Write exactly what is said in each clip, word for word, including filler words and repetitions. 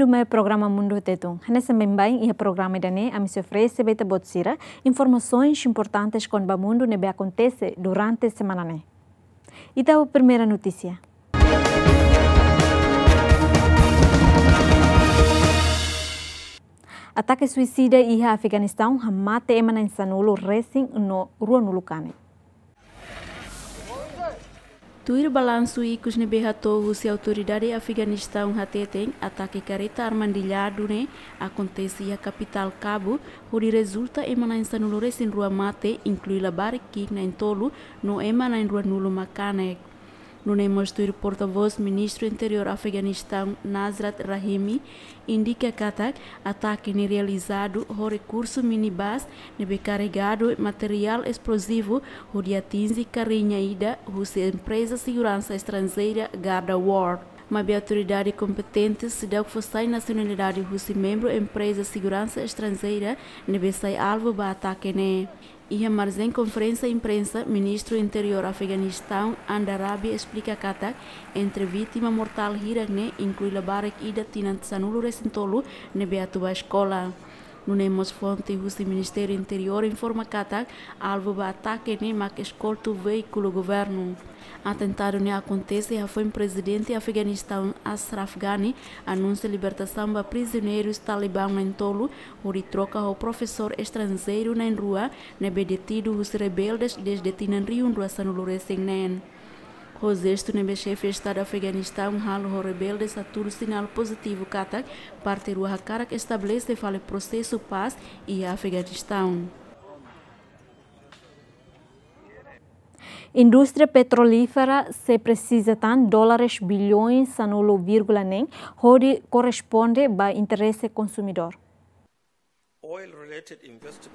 Duma programa Mundu Tetun. Hanesan baibain iha programa ida-ne'e, ami sei oferese ba ita-boot sira informasaun importante kona-ba mundu ne'ebé akontese durante semana ne'e. Ita ho primeira notísia. Atake suisida iha Afeganistaun hamate ema na'in sanulu resin no ruanulu kanek. Tuir balansu ikus ne'ebé hato'o husi autoridade Afeganistaun hateten, atake kareta armadilladu ne'e akontese iha kapitál Kabul, hodi rezulta ema na'in sanulu resin rua mate, inklui labarik ki'ik na'in tolu, no ema na'in ruanulu mak kanek. Nune'e mós tuir portavós Ministru Interiór Afeganistaun Nasrat Rahimi, indika katak atake ne'e realizadu ho rekursu minibus ne'ebé karregadu materiál esplozivu hodi atinje karrinha ida husi empreza seguransa estranjeira Garda War. Maibé autoridade kompetente seidauk fó sai nasionalidade husi membru empreza seguransa estranjeira ne'ebé sai alvu ba atake ne'e. Iha marjen konferénsia imprensa, Ministru Interiór Afeganistaun Andarabi esplika katak entre vítima mortál hirak ne'e inklui labarik ida tinan sanulu resin tolu ne'ebé atu bá eskola. Nune'e mós fonte husi Ministériu Interiór informa katak alvu ba atake ne'e mak eskoltu veíkulu governu. Atentadu ne'e akontese hafoin Prezidente Afeganistaun Ashraf Ghani anunsia libertasaun ba prizioneirus Talibán na'in tolu, hodi troka ho profesór estranjeiru na'in rua ne'ebé detidu husi rebeldes dezde tinan rihun rua sanulu resin neen. Ho jestu ne'ebé xefe Estadu Afeganistaun halo ho rebeldes hatudu sinál pozitivu katak parte rua hakarak estabelese fali prosesu pás iha Afeganistaun. Indústria petrolífera sei presiza tan dólares bilhões sanulu vírgula neen hodi korresponde ba interese konsumidór.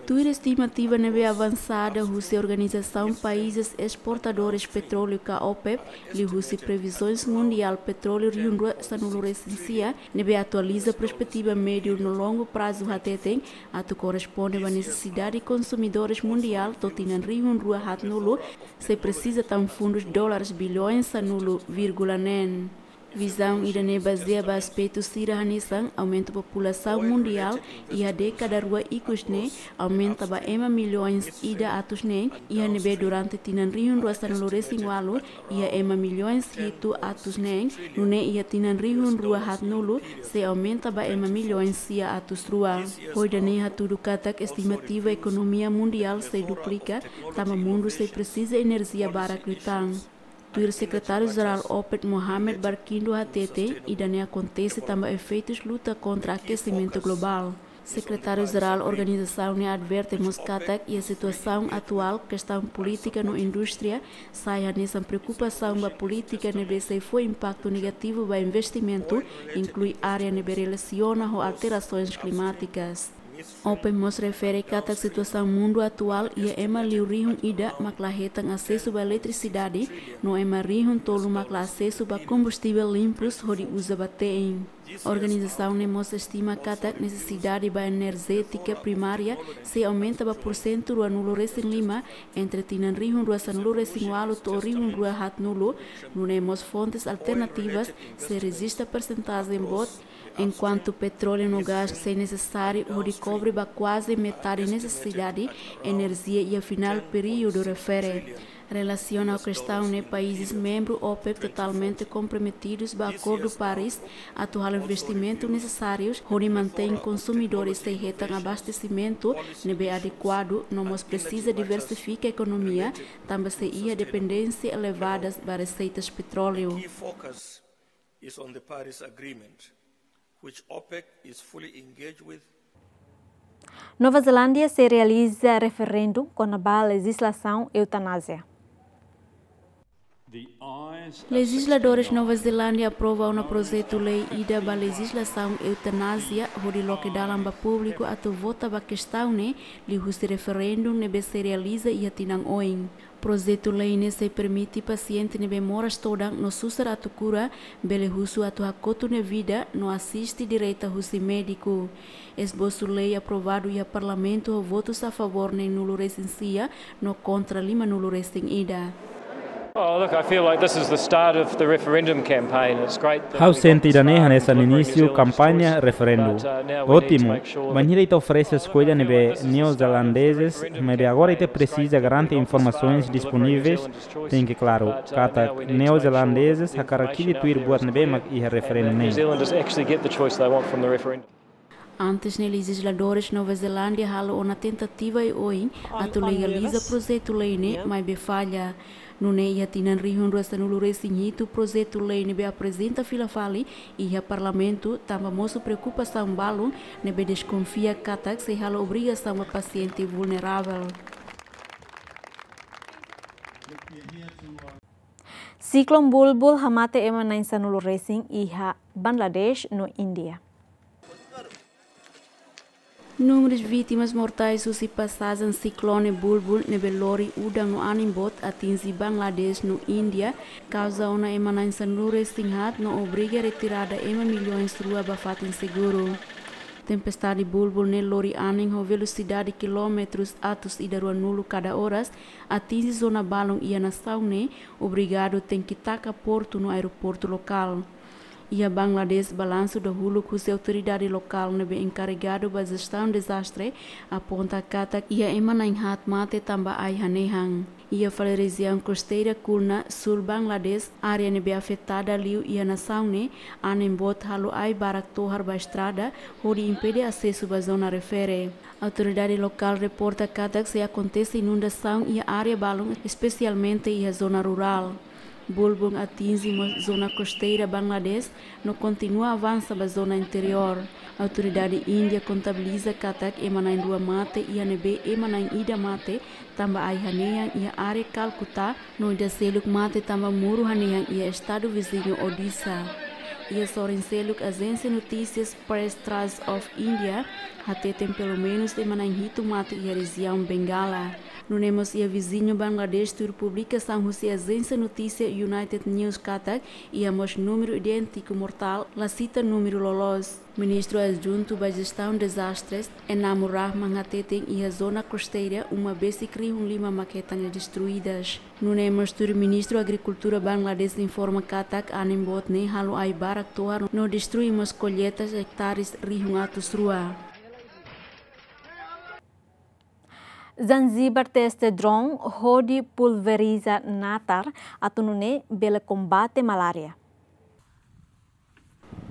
Tuir estimativa ne'ebé avansada husi Organizasaun Países Esportadores Petróleu ka OPEP, liuhusi previzoens mundiál petróleu rihun rua sanulu resin sia, ne'ebé atualiza perspetiva médiu no longu prazu hateten, atu korresponde ba nesesidade konsumidores mundiál to'o tinan rihun rua haatnulu, sei presiza tan fundus dólares bilhões sanulu vírgula neen. Vizaun ida-ne'e bazeia ba aspetu sira hanesan aumenta populasaun mundiál iha dékada rua ikus ne'e, aumenta ba ema milhões ida atus neen, iha ne'ebé durante tinan rihun rua sanulu resin ualu, iha ema milhões hitu atus neen, nune'e iha tinan rihun rua haatnulu, sei aumenta ba ema milhões sia atus rua. Ho ida-ne'e hatudu katak estimativa ekonomia mundiál sei duplika, tanba mundu sei presiza enerjia barak liután. Tuir Sekretáriu-Jerál OPEP Mohamed Barkindo hateten, ida-ne'e akontese tanba efeitus luta kontra akesimentu globál. Sekretáriu-Jerál organizasaun ne'e adverte mós katak iha situasaun atuál, kestaun polítika no indústria sai hanesan preokupasaun ba polítika ne'ebé sei fó impaktu negativu ba investimentu, inklui área ne'ebé relasiona ho alterasoens klimátikas. OPEP mós refere katak situasaun mundu atuál iha ema liu rihun ida mak la hetan asesu ba eletrisidade, no ema rihun tolu mak la asesu ba kombustivel limpus hodi uza ba te'in. Organizasaun ne'e mós estima katak nesesidade ba enerjétika primária sei aumenta ba pursentu ruanulu resin lima entre tinan rihun rua sanulu resin ualu to'o rihun rua haatnulu, nune'e mós fontes alternativas sei rejista persentajen boot, enkuantu petróleu no gás sei nesesáriu hodi kobre ba kuaze metade nesesidade enerjia iha finál períodu refere. Relasiona ho kestaun ne'e, países membru OPEP totalmente komprometidus ba Akordu Paris atu halo investimentu nesesárius hodi mantein konsumidores sei hetan abastesimentu ne'ebé adekuadu, no mós presiza diversifika ekonomia, tanba sei iha dependénsia elevadas ba reseitas petróleu. Is on the Paris Agreement, which OPEC is fully engaged with. Nova Zelándia sei realiza referendu kona-ba lejizlasaun eutanásia. Lejizladores Nova Zelándia aprova ona projetu lei ida ba lejizlasaun eutanásia, hodi loke dalan ba públiku atu vota ba kestaun ne'e, liuhusi referendu ne'ebé sei realiza iha tinan oin. Projetu lei ne'e sei permite pasiente ne'ebé moras todan no susar atu kura, bele husu atu hakotu nia vida no asiste direta husi médiku. Esbosu lei aprovadu iha Parlamentu ho votus a favór neenulu resin sia no kontra limanulu resin ida. Oh, look, I feel like this is the start of the referendum campaign. It's great that Ha'u sente ida-ne'e hanesan inísiu kampaña referendu. But, uh, now we need to make sure that Ótimu. Bainhira ita oferese eskolha ne'ebé neozelandezes, maibé agora ita presiza garante informasoens disponíveis, tenke klaru katak neozelandezes hakarak hili tuir buat ne'ebé mak iha referendu ne'e. New Zealanders actually get the choice they want from the referendum. Antes ne'e, lejizladores Nova Zelándia halo ona tentativa oioin atu legaliza projetu lei ne'e, maibé falla. Nune'e iha tinan rihun rua sanulu resin hitu, projetu lei ne'ebé aprezenta fila fali iha Parlamentu, tanba mosu preokupasaun balun ne'ebé deskonfia katak sei halo obrigasaun ba pasiente vulneravel. Siklone Bulbul hamate ema na'in sanulu resin iha Bangladesh no Índia. Númerus vítimas mortais husi pasajen siklone Bulbul ne'ebé lori udan no anin boot atinje Bangladesh no Índia, kauza ona ema na'in sanulu resin haat no obriga retirada ema milhões rua ba fatin seguru. Tempestade Bulbul ne'e lori anin ho velosidade kilómetrus atus ida ruanulu kada oras, atinje zona balun iha nasaun ne'e, obrigadu tenke taka portu no aeroportu lokál. Iha Bangladesh, balansu dahuluk husi autoridade lokál ne'ebé enkarregadu ba jestaun dezastre aponta katak iha ema na'in haat mate tanba ai hanehan. Iha fali rejiaun kosteira Khulna, sul Bangladesh, área ne'ebé afetada liu iha nasaun ne'e, anin boot halo ai barak tohar ba estrada, hodi impede asesu ba zona refere. Autoridade lokál reporta katak sei akontese inundasaun iha área balun, espesialmente iha zona rurál. Bulbul atinje mós zona kosteira Bangladesh no kontinua avansa ba zona interiór. Autoridade Índia kontabiliza katak ema na'in rua mate iha ne'ebé ema na'in ida mate tanba ai hanehan iha área Calcutta, no ida seluk mate tanba muru hanehan iha estadu viziñu Odisha. Iha sorin seluk, ajénsia notísias Press Trust of India hateten pelumenus ema na'in hitu mate iha rejiaun Bengala. Nune'e mós iha viziñu Bangladesh tuir publikasaun husi ajénsia notísia United News katak iha mós númeru idéntiku mortál, la sita númeru loloos. Ministru Adjuntu ba Jestaun Dezastres, Enamur Rahman hateten iha zona kosteira uma besik rihun lima mak hetan destruidas. Nune'e mós tuir Ministru Agrikultura Bangladesh informa katak anin boot ne'e halo ai barak tohar no destrui mós kolleita hektares rihun atus rua. Zanzibar teste drone hodi pulveriza natar atu nune'e bele kombate malária.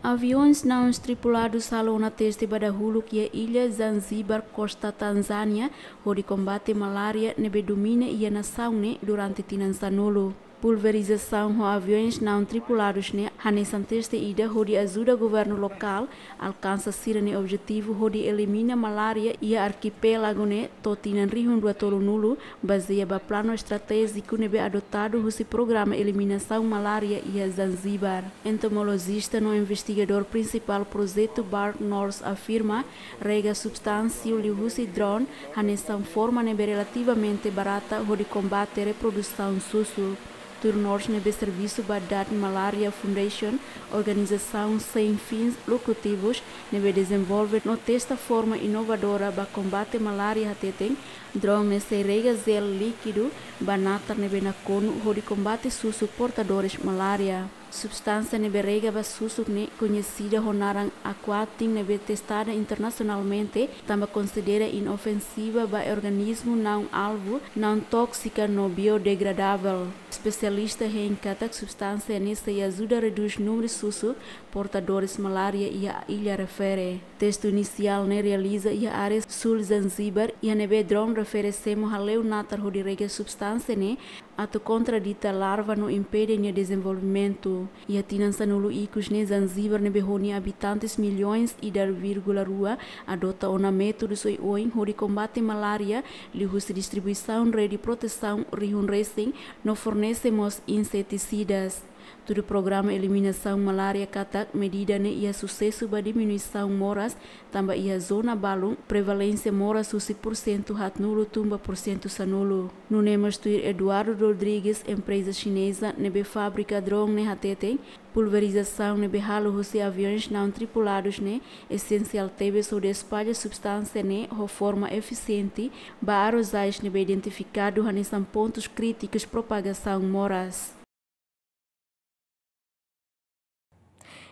Aviões não tripuladus halo ona teste ba dahuluk iha illa Zanzibar, kosta Tanzánia, hodi kombate malária ne'ebé domina iha nasaun ne'e durante tinan sanulu. Pulverizasaun ho aviões não tripuladus ne'e hanesan teste ida hodi ajuda governu lokál alkansa sira-nia objetivu hodi elimina malária iha arkipélagu ne'e to'o tinan rihun rua tolunulu, bazeia ba planu estratéjiku ne'ebé adotadu husi programa eliminasaun malária iha Zanzibar. Entomolojista no investigadór prinsipál projetu BirdNorth afirma, rega substánsia liuhusi drone hanesan forma ne'ebé relativamente barata hodi kombate reprodusaun susuk. Tuir North ne'ebé servisu ba Dutch Malaria Foundation, organizasaun sein fins lucrativos ne'ebé dezenvolve no testa forma inovadora ba kombate malária hateten, drone ne'e sei rega jel líkidu ba natar ne'ebé nakonu hodi kombate susuk portadores malária. Substánsia ne'ebé rega ba susuk ne'e koñesida ho naran Aquatin ne'ebé testada internasionalmente, tanba konsidera inofensiva ba organismu não alvu, não tóksika no biodegradável. Espesialista hein katak substánsia ne'e sei ajuda redús númeru susuk portadores malária iha illa refere. Testu inisiál ne'e realiza iha área sul Zanzibar, iha ne'ebé drone refere semo hale'u natar hodi rega substánsia ne'e atu kontra dita larva no impede nia dezenvolvimentu. Iha tinan sanulu ikus ne'e Zanzibar ne'ebé ho nia abitantes milhões ida vírgula rua adota ona métodus oioin hodi kombate malária, liuhusi distribuisaun rede protesaun rihun resin no fornese mós insetisidas. Tuir programa eliminasaun malária katak medida ne'e iha susesu ba diminuisaun moras, tanba iha zona balun prevalénsia moras husi pursentu haatnulu tun ba pursentu sanulu. Nune'e mós tuir Eduardo Rodrigues, empreza xineza ne'ebé fabrika drone ne'e hateten, pulverizasaun ne'ebé halo husi aviões não tripulados ne'e esensiál tebes hodi espalla substánsia ne'e ho forma efisiente ba arrozais ne'ebé identifikadu hanesan pontus krítikus propagasaun moras.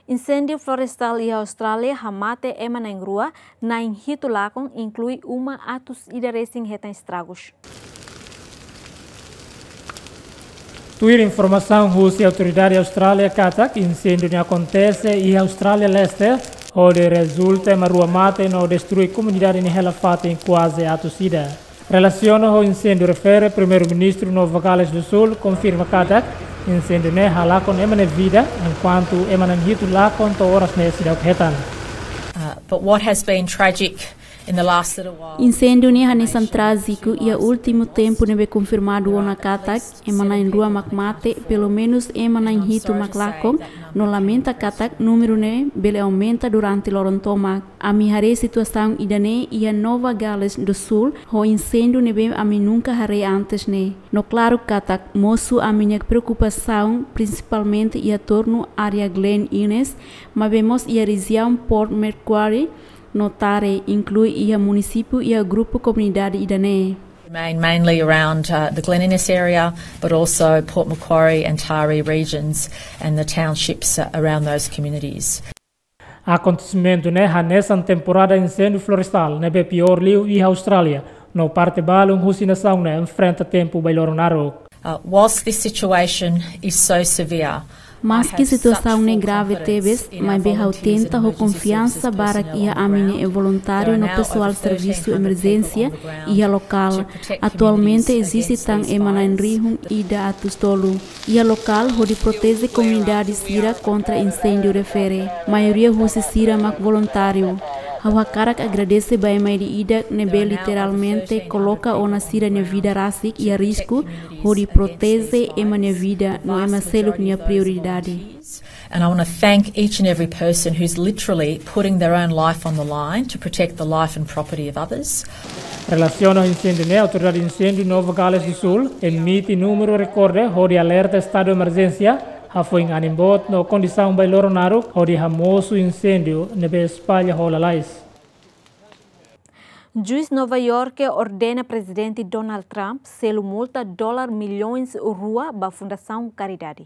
Inséndiu florestál iha Austrália hamate ema na'in rua, na'in hitu lakon, inklui uma atus ida resin hetan estragus. Tuir informasaun husi autoridade Austrália katak inséndiu ne'e akontese iha Austrália Leste, hodi rezulta ema rua mate no destrui komunidade nia hela-fatin kuaze atus ida. Relasiona ho inséndiu refere, Primeiru-Ministru Nova Gales do Sul konfirma katak inséndiu ne'e halakon ema nia vida, enkuantu ema na'in hitu lakon to'o oras ne'e seidauk hetan. Uh, but what has been tragic in the last little while. Inséndiu ne'e hanesan trájiku iha últimu tempu ne'ebé konfirmadu ona katak ema na'in rua mak mate, pelumenus ema na'in hitu mak lakon, no lamenta katak númeru ne'e bele aumenta durante loron tomak. Ami haree situasaun ida-ne'e iha Nova Gales do Sul, ho inséndiu ne'ebé ami nunka haree antes ne'e. No klaru katak mosu ami-nia preokupasaun prinsipalmente iha tornu área Glen Innes, maibé mós iha rejiaun Port Macquarie no Taree, inklui iha munisípiu iha grupu komunidade ida-ne'e. Remain mainly around, uh, the Glen Innes area, but also Port Macquarie and Taree regions and the townships, uh, around those communities. Akontesimentu ne'e hanesan temporada inséndiu florestál ne'ebé piór liu iha Austrália, no parte balun husi nasaun ne'e enfrenta tempu bailoron naruk. Uh, whilst this situation is so severe, Maski situasaun ne'e grave tebes, maibé ha'u tenta ho konfiansa barak iha ami-nia voluntáriu no pesoál servisu emerjénsia iha lokál. Atualmente eziste tan ema na'in rihun ida atus tolu iha lokál hodi proteje komunidade sira kontra inséndiu refere. Maioria husi sira mak voluntáriu. Ha'u hakarak agradese ba ema ida-idak ne'ebé literalmente koloka ona sira-nia vida rasik iha risku hodi proteje ema nia vida no ema seluk nia prioridade. And I want to thank each and every person who's literally putting their own life on the line to protect the life and property of others. Relasiona ho inséndiu ne'e, Autoridade Inséndiu Nova Gales do Sul emite númeru rekorde hodi alerta estadu emerjénsia, hafoin anin boot no kondisaun bailoron naruk hodi hamosu inséndiu ne'ebé espalla ho lalais. Juís Nova Iorke ordena Prezidente Donald Trump selu multa dolar milhões rua ba fundasaun karidade.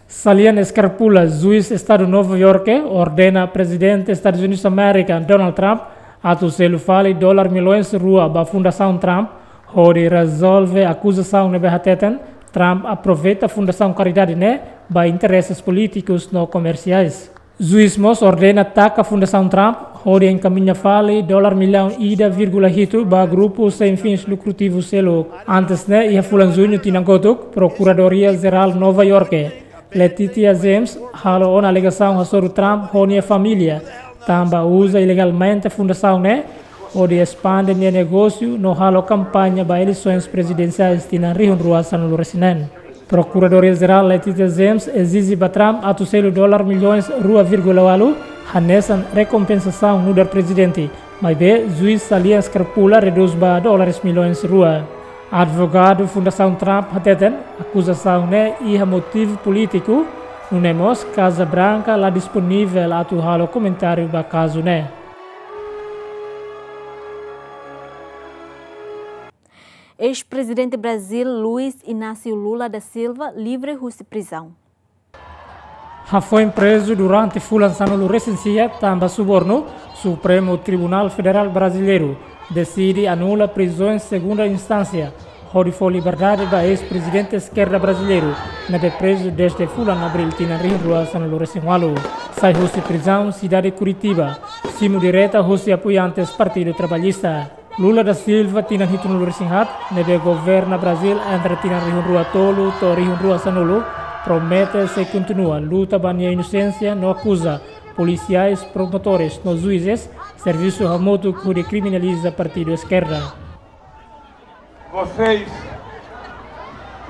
Salian Scarpulla, juís Estadu Nova Iorke, ordena Prezidente Estadus Unidus Amérika, Donald Trump, atu selu fali dolar milhões rua ba Fundasaun Trump, hodi rezolve akuzasaun ne'ebé hateten Trump aproveita fundasaun karidade ne'e ba intereses polítikus no komersiais. Juís mós ordena taka Fundasaun Trump hodi enkamiña fali dolar millaun ida vírgula hitu ba grupu sein fins lukrativus seluk. Antes ne'e, iha fulan Juñu tinan kotuk, Prokuradoria Jerál Nova Iorke, Letitia James, halo ona alegasaun hasoru Trump ho nia família, tanba uza ilegalmente fundasaun ne'e hodi espande nia negósiu no halo kampaña ba eleisoens prezidensiais tinan rihun rua sanulu resin neen. Prokuradoria Jerál Letitia James ezije ba Trump atu selu dolar milhões rua vírgula ualu hanesan rekompensasaun nu'udar prezidente, maibé juís Salian Scarpulla redús ba dólares milhões rua. Advogadu Fundasaun Trump hateten, akuzasaun ne'e iha motivu polítiku, nune'e mós Kaza Branka la disponivel atu halo komentáriu ba kazu ne'e. Eis-prezidente Brazil, Luiz Inácio Lula da Silva, livre husi prizaun. Hafoin prezu durante fulan sanulu resin sia tanba subornu, Supremu Tribunál Federál Brasileiru deside anula prizaun segunda instánsia, hodi fó liberdade ba eis-prezidente eskerda brasileiru, ne'ebé prezu dezde fulan Abríl tinan rihun rua sanulu resin ualu. Sai husi prizaun sidade Curitiba, simu direta husi apoiantes Partidu Trabalhista. Lula da Silva, tinan hitunulu resin haat, ne'ebé governa Brazil entre tinan rihun rua tolu to'o rihun rua sanulu, promete sei kontinua luta ba nia inosénsia no akuza polisiais, promotores no juízes servisu hamutuk hodi kriminaliza partidu eskerda. Vocês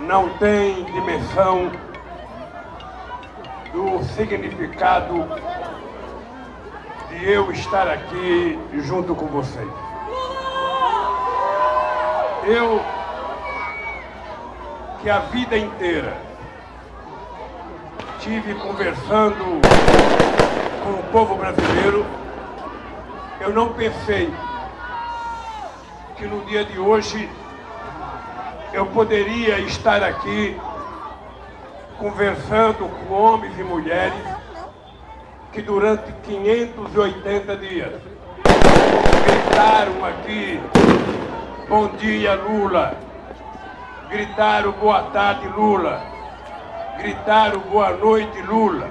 não têm dimensão O significado de eu estar aqui junto com vocês. Eu que a vida inteira tive conversando com o povo brasileiro, eu não pensei que no dia de hoje eu poderia estar aqui conversando com homens e mulheres que durante quinhentos e oitenta dias gritaram aqui: "Bom dia, Lula!", gritaram: "Boa tarde, Lula!", gritaram: "Boa noite, Lula!".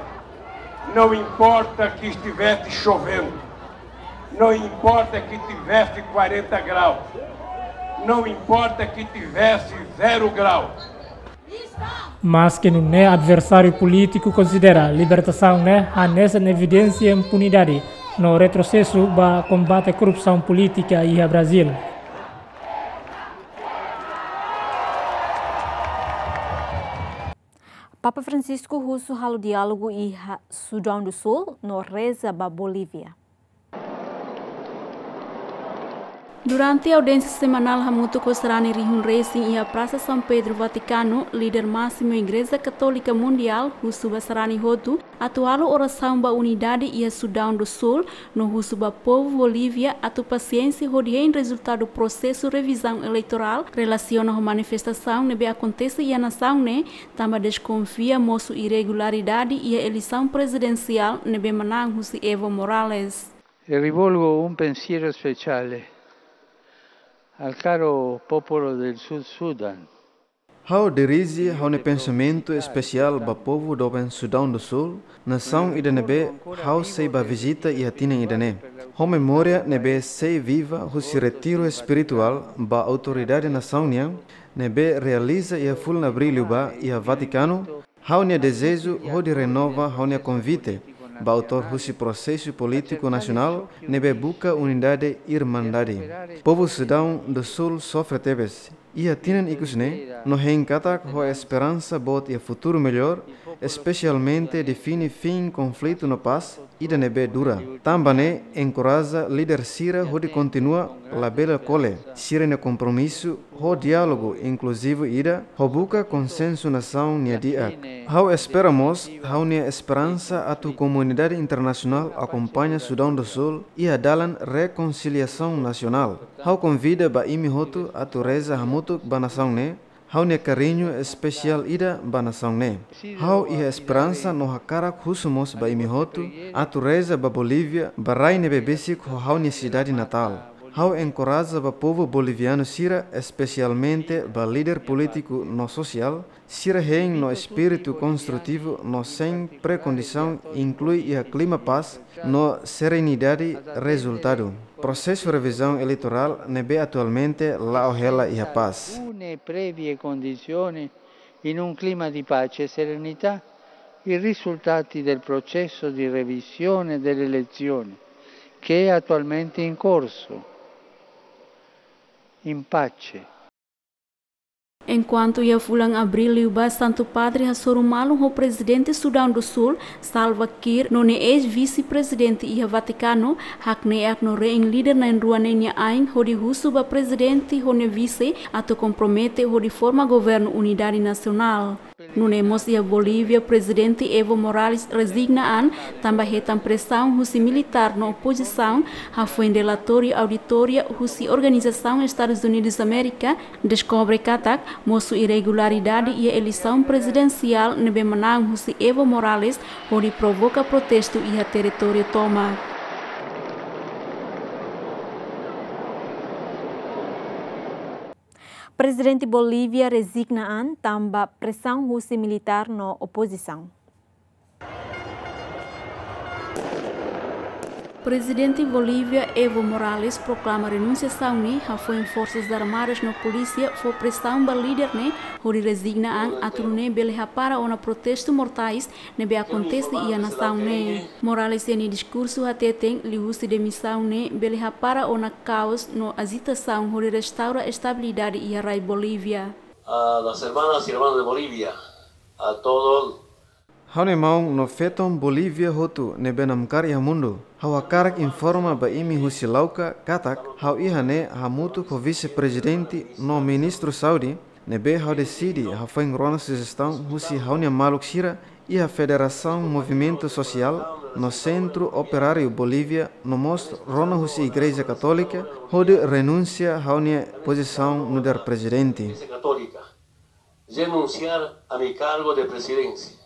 Não importa que estivesse chovendo, não importa que tivesse quarenta graus, não importa que tivesse zero graus. Maske nune'e adversáriu polítiku konsidera libertasaun ne'e hanesan evidénsia impunidade no retrosesu ba kombate korrupsaun polítika iha Brazíl. Papa Francisco husu halo diálogu iha Sudaun do Sul no reza ba Bolívia. Durante audiénsia semanál hamutuk ho sarani rihun resin iha Prasa São Pedro, Vatikanu, líder másimu Igreja Katólika Mundiál husu ba sarani hotu atu halo orasaun ba unidade iha Sudaun do Sul, no husu ba povu Bolívia atu pasiénsia hodi hein rezultadu prosesu revizaun eleitorál, relasiona ho manifestasaun ne'ebé akontese iha nasaun ne'e, tanba deskonfia mosu irregularidade iha eleisaun prezidensiál ne'ebé manán husi Evo Morales. E rivolgo un pensiero speciale al caro popolo del Sud Sudan. Ha'u dirije ha'u-nia pensamentu espesiál ba povu doben Sudaun do Sul, nasaun ida ne'ebé ha'u sei bá vizita iha tinan ida-ne'e. Ho memória ne'ebé sei viva husi retiru espirituál ba autoridade nasaun nian, ne'ebé realiza iha fulan Abríl liubá iha Vatikanu, ha'u-nia dezeju hodi renova ha'u-nia konvite ba autór husi prosesu polítiku nasionál ne'ebé buka unidade, irmandade. Povu Sudaun do Sul sofre tebes iha tinan ikus ne'e, no hein katak ho esperansa boot iha futuru mellór, espesialmente define fin konflitu no pás ida ne'ebé dura. Tanba ne'e enkoraja líder sira hodi kontinua labele kole sira-nia kompromisu ho diálogu inkluzivu ida, ho buka konsensu nasaun nia di'ak. Ha'u espera mós ha'u-nia esperansa atu komunidade internasionál akompaña Sudaun do Sul iha dalan rekonsiliasaun nasionál. Ha'u konvida ba imi hotu atu reza hamutuk ba nasaun ne'e, ha'u-nia kariñu espesiál ida ba nasaun ne'e. Ha'u iha esperansa no hakarak husu mós ba imi hotu atu reza ba Bolívia, ba rai ne'ebé besik ho ha'u-nia sidade natál. Ha'u enkoraja ba povu bolivianu sira, espesialmente ba líder polítiku no sosiál, sira hein no espíritu konstrutivu no sein prekondisaun, inklui iha klima pás no serenidade rezultadu prosesu revizaun eleitorál ne'ebé atualmente la'o hela iha pás. Alcune previe condizioni in un clima di pace e serenità, i risultati del processo di revisione delle elezioni che è attualmente in corso, in pace. Enkuantu iha fulan Abríl liubá Santu Padre hasoru malu ho Prezidente Sudaun do Sul, Salva Kiir, no nia eis-vise-prezidente iha Vatikanu, hakne'ak no rein líder na'in-rua ne'e nia ain hodi husu ba prezidente ho nia vise atu kompromete hodi forma governu unidade nasionál. Nune'e mós iha Bolívia, Prezidente Evo Morales rezigna an tanba hetan presaun husi militár no opozisaun, hafoin relatóriu auditoria husi Organizasaun Estadus Unidus Amérika deskobre katak mosu irregularidade iha eleisaun prezidensiál ne'ebé manán husi Evo Morales, hodi provoka protestu iha territóriu tomak. Prezidente Bolívia rezigna an tanba presaun husi militár no opozisaun. Prezidente Bolívia Evo Morales proklama renúnsia sauni, hafoin Forsas Armadas no polísia fó presaun ba líder ne'e hodi rezigna an atu nune'e bele hapara ona protestu mortais ne'ebé akontese iha nasaun ne'e. Morales iha nia diskursu hateten liuhusi demisaun ne'e bele hapara ona kaos no ajitasaun hodi restaura estabilidade iha rai Bolívia. A las hermanas y hermanos de Bolivia, a todos. Ha'u-nia maun no feton Bolívia hotu ne'ebé namkari iha mundu. Ha'u hakarak informa ba imi husi Lauka katak ha'u iha ne'e hamutuk ho vise-prezidente no ministru saúde, ne'ebé ha'u deside hafoin rona sujestaun husi ha'u-nia maluk sira iha Federasaun Movimentu Sosiál no Sentru Operáriu Bolívia no mós rona husi Igreja Katólika hodi renunsia ha'u-nia pozisaun nu'udar prezidente. Igreja Católica, renunciar a mi cargo de presidencia.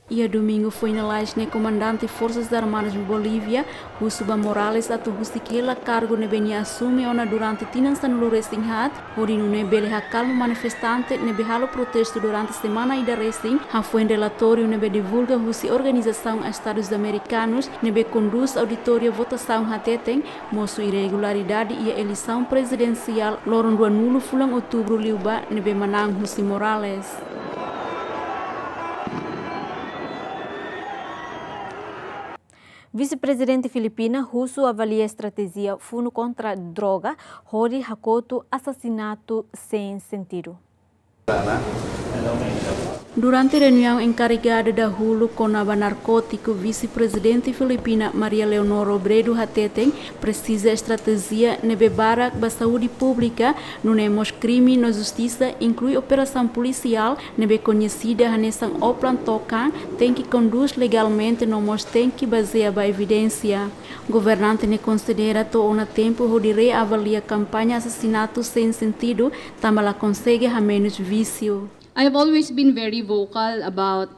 Iha domingu foin lalais ne'e, komandante Forsas Armadas Bolívia husu ba Morales atu husik hela kargu ne'ebé nia asume ona durante tinan sanulu-resin-haat, hodi nune'e bele hakalma manifestante ne'ebé halo protestu durante semana ida resin, hafoin relatóriu ne'ebé divulga husi Organizasaun Estadus Amerikanus ne'ebé kondús auditória votasaun hateten mosu irregularidade iha eleisaun prezidensiál loron ruanulu fulan Outubru liubá ne'ebé manán husi Morales. Vise-Prezidente Filipina husu avalia estratéjia funu kontra droga hodi hakotu asasinatu sein sentidu. Durante reuniaun enkarregada dahuluk kona-ba narkótiku, Vise-Prezidente Filipina Maria Leonor Robredo hateten presiza estratéjia ne'ebé barak ba saúde públika, nune'e mós krime no justisa, inklui operasaun polisiál ne'ebé koñesida hanesan Oplan Tokan, tenke kondús legalmente no mós tenke bazeia ba evidénsia. Governante ne'e konsidera to'o ona tempu hodi reavalia kampaña asasinatu sein sentidu, tanba la konsege hamenus vísiu. I have always been very vocal about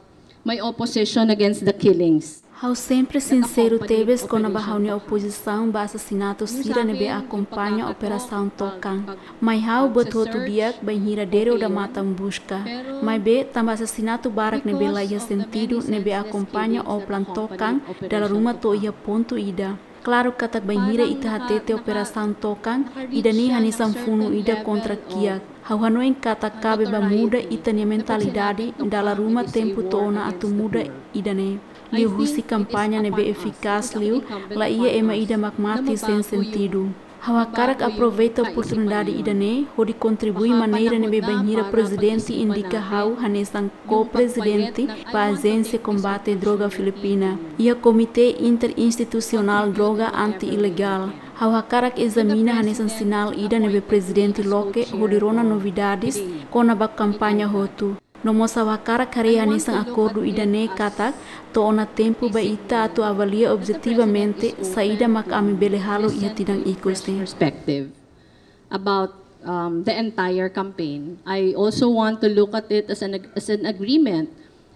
my opposition against the killings. Ha'u sempre sinseru tebes kona-ba ha'u-nia opozisaun ba asasinatu sira ne'ebé akompaña Operasaun Tokan. Mai ha'u buat hotu di'ak bainhira dere odamatan buska. Maibé, tanba asasinatu barak ne'ebé la iha sentidu ne'ebé akompaña Oplan Tokan, dala ruma to'o iha pontu ida. Klaru katak bainhira ita hatete Operasaun Tokan, ida-ne'e hanesan funu ida kontra kiak. Ha'u hanoin katak kabe ba muda ita-nia mentalidade, dala ruma tempu to'o ona atu muda ida-ne'e. Liuhusi kampaña ne'ebé efikás liu, la iha ema ida mak mate sein sentidu. Ha'u hakarak aproveita oportunidade ida-ne'e hodi kontribui maneira ne'ebé bainhira prezidente indika ha'u hanesan ko-prezidente ba Ajénsia Kombate Droga Filipina, iha Komité Interinstitusionál Droga Anti-Ilegál. Ha'u hakarak ezamina hanesan sinál ida ne'ebé prezidente loke hodi rona novidades kona-ba kampaña hotu. No mós ha'u hakarak haree hanesan akordu ida-ne'e katak to'o ona tempu ba ita atu avalia objetivamente saida mak ami bele halo iha tinan ikus ne'e. Perspective about, um, the entire campaign. I also want to look at it as an ag-, as an agreement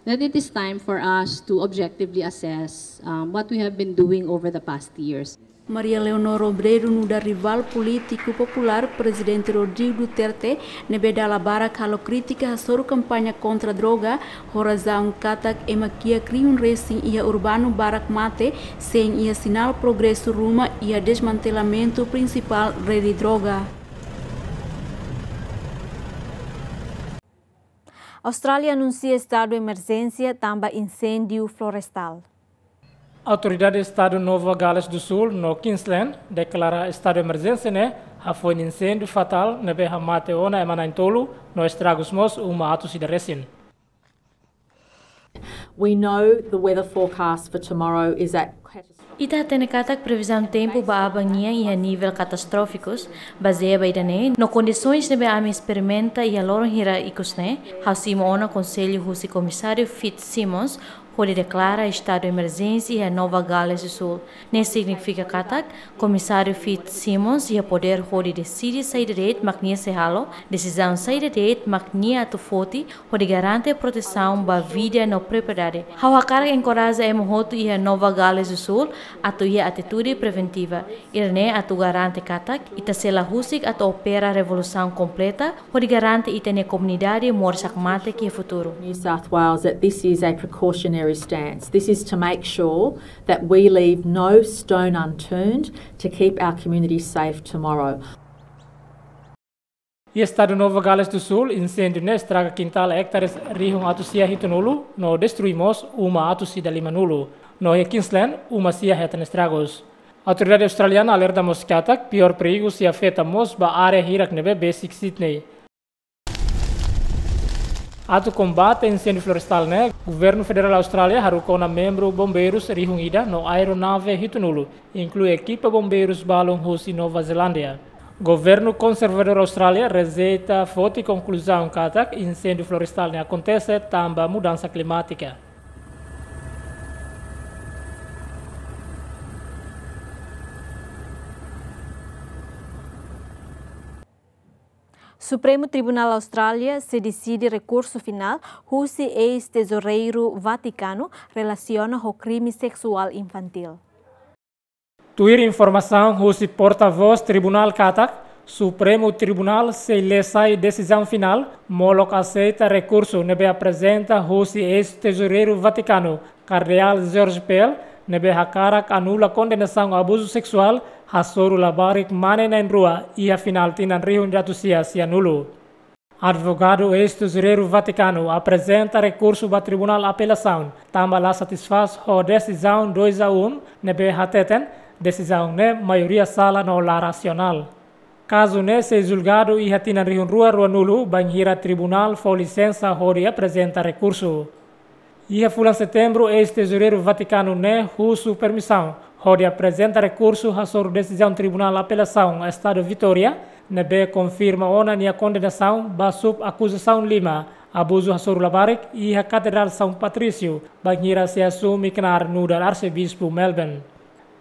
that it is time for us to objectively assess, um, what we have been doing over the past years. Maria Leonor Robredo nu'udar rivál polítiku populár Prezidente Rodrigo Duterte, ne'ebé dala barak halo krítika hasoru kampaña kontra droga, ho razaun katak ema kiak rihun resin iha urbanu barak mate, sein iha sinál progresu ruma iha desmantelamentu prinsipál rede droga. Austrália anunsia estadu emerjénsia tanba inséndiu florestál. Autoridade Estadu Nova Gales do Sul no Queensland deklara estadu emerjénsia ne'e hafoin inséndiu fatál ne'ebé hamate ona ema na'in-tolu no estragus mós uma atus ida resin. We know the weather forecast for tomorrow is at catastrophic. Ita hatene katak previzaun tempu ba aban nian iha nivel katastrófikus, bazeia ba ida-ne'e no kondisoens ne'ebé ami esperimenta iha loron hirak ikus ne'e, ha'u simu ona konsellu husi Komisáriu Fitzsimmons hodi deklara estadu emerjénsia iha Nova Gales do Sul. Ne'e signifika katak Komisáriu Fitzsimmons iha podér hodi deside saida de'it mak nia sei halo, desizaun saida de'it mak nia atu foti, hodi garante protesaun ba vida no propriedade. Ha'u hakarak enkoraja ema hotu iha Nova Gales do Sul atu iha atitude preventiva. Ida-ne'e atu garante katak ita sei la husik atu opera revolusaun kompleta, hodi garante ita-nia komunidade moris hakmatek iha futuru. New South Wales, that this is a precautionary stance. This is to make sure that we leave no stone unturned to keep our communities safe tomorrow. Iha estadu Nova Gales do Sul, inséndiu ne'e estraga kintál ektares rihun atus sia hitunulu, no destrui mós uma atus ida limanulu. No iha Queensland, uma sia hetan estragus. Autoridade australiana alerta mós katak piór perigu sei afeta mós ba área hirak ne'ebé besik Sydney. Atu kombate inséndiu florestál ne'e, Governu Federál Austrália haruka ona membru bombeirus rihun ida no aeronave hitunulu, inklui ekipa bombeirus balun husi Nova Zelándia. Governu konservadór Austrália rejeita foti konkluzaun katak inséndiu florestál ne'e akontese tanba mudansa klimátika. Supremu Tribunál Austrália sei deside rekursu finál husi eis-tezoureiru Vatikanu relasiona ho krime seksuál infantíl. Tuir informasaun husi portavós tribunál katak, Supremu Tribunál sei lee sai desizaun finál, molok aseita rekursu ne'ebé aprezenta husi eis-tezoureiru Vatikanu, Kardeál George Pell, ne'ebé hakarak anula kondenasaun abuzu seksuál hasoru labarik mane na'in-rua iha final tinan rihun ida atus sia sianulu. Advogadu eis-tezoureiru Vatikanu aprezenta rekursu ba Tribunál Apelasaun, tanba la satisfás ho desizaun dois a um, ne'ebé hateten desizaun ne'e maioria sala no la rasionál. Kazu ne'e sei julgadu iha tinan rihun rua ruanulu, bainhira tribunál fó lisensa hodi aprezenta rekursu. Iha fulan Setembru, eis-tezoureiru Vatikanu ne'e husu permisaun hodi aprezenta rekursu hasoru desizaun Tribunál Apelasaun Estadu Vitória, ne'ebé konfirma ona nia kondenasaun ba sub-akuzasaun lima, abuzu hasoru labarik iha Katedrál São Patrício, bainhira sei asume knaar nu'udar Arsebispu Melbourne.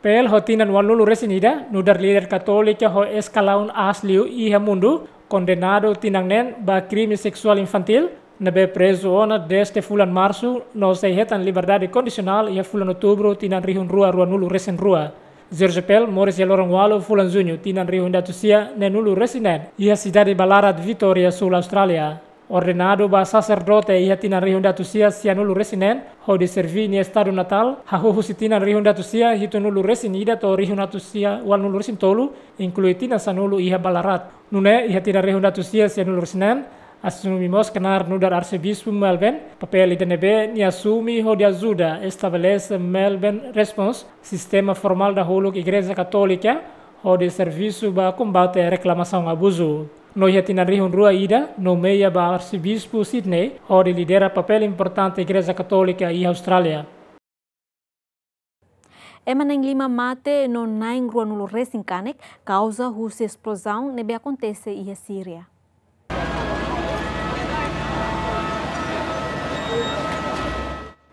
Pell ho tinan ualunulu resin ida, nu'udar líder katólika ho eskalaun aas liu iha mundu, kondenadu tinan neen ba krime seksuál infantíl, ne'ebé prezu ona dezde fulan Marsu, no sei hetan liberdade kondisionál iha fulan Outubru tinan rihun rua ruanulu resin rua. George Pell moris iha loron ualu fulan Juñu tinan rihun ida atus sia neenulu resin neen, iha sidade Ballarat, Vitória, Súl Austrália. Ordenadu ba saserdote iha tinan rihun ida atus sia sianulu resin neen, hodi serví nia estadu natál, hahú husi tinan rihun ida atus sia hitunulu resin ida to'o rihun ida atus sia ualunulu resin tolu, inklui tinan sanulu iha Ballarat. Nune'e, iha tinan rihun ida atus sia sianulu resin neen, asume mós knaar nu'udar Arsebispu Melbourne, papél ida ne'ebé nia asume hodi ajuda estabelese Melbourne Response, sistema formál dahuluk Igreja Katólika, hodi servisu ba kombate reklamasaun abuzu. No iha tinan rihun rua ida, nomeia ba Arsebispu Sydney, hodi lidera papél importante Igreja Katólika iha Austrália. Ema na'in-lima mate no na'in-ruanulu resin kanek, kauza husi esplozaun ne'ebé akontese iha Síria.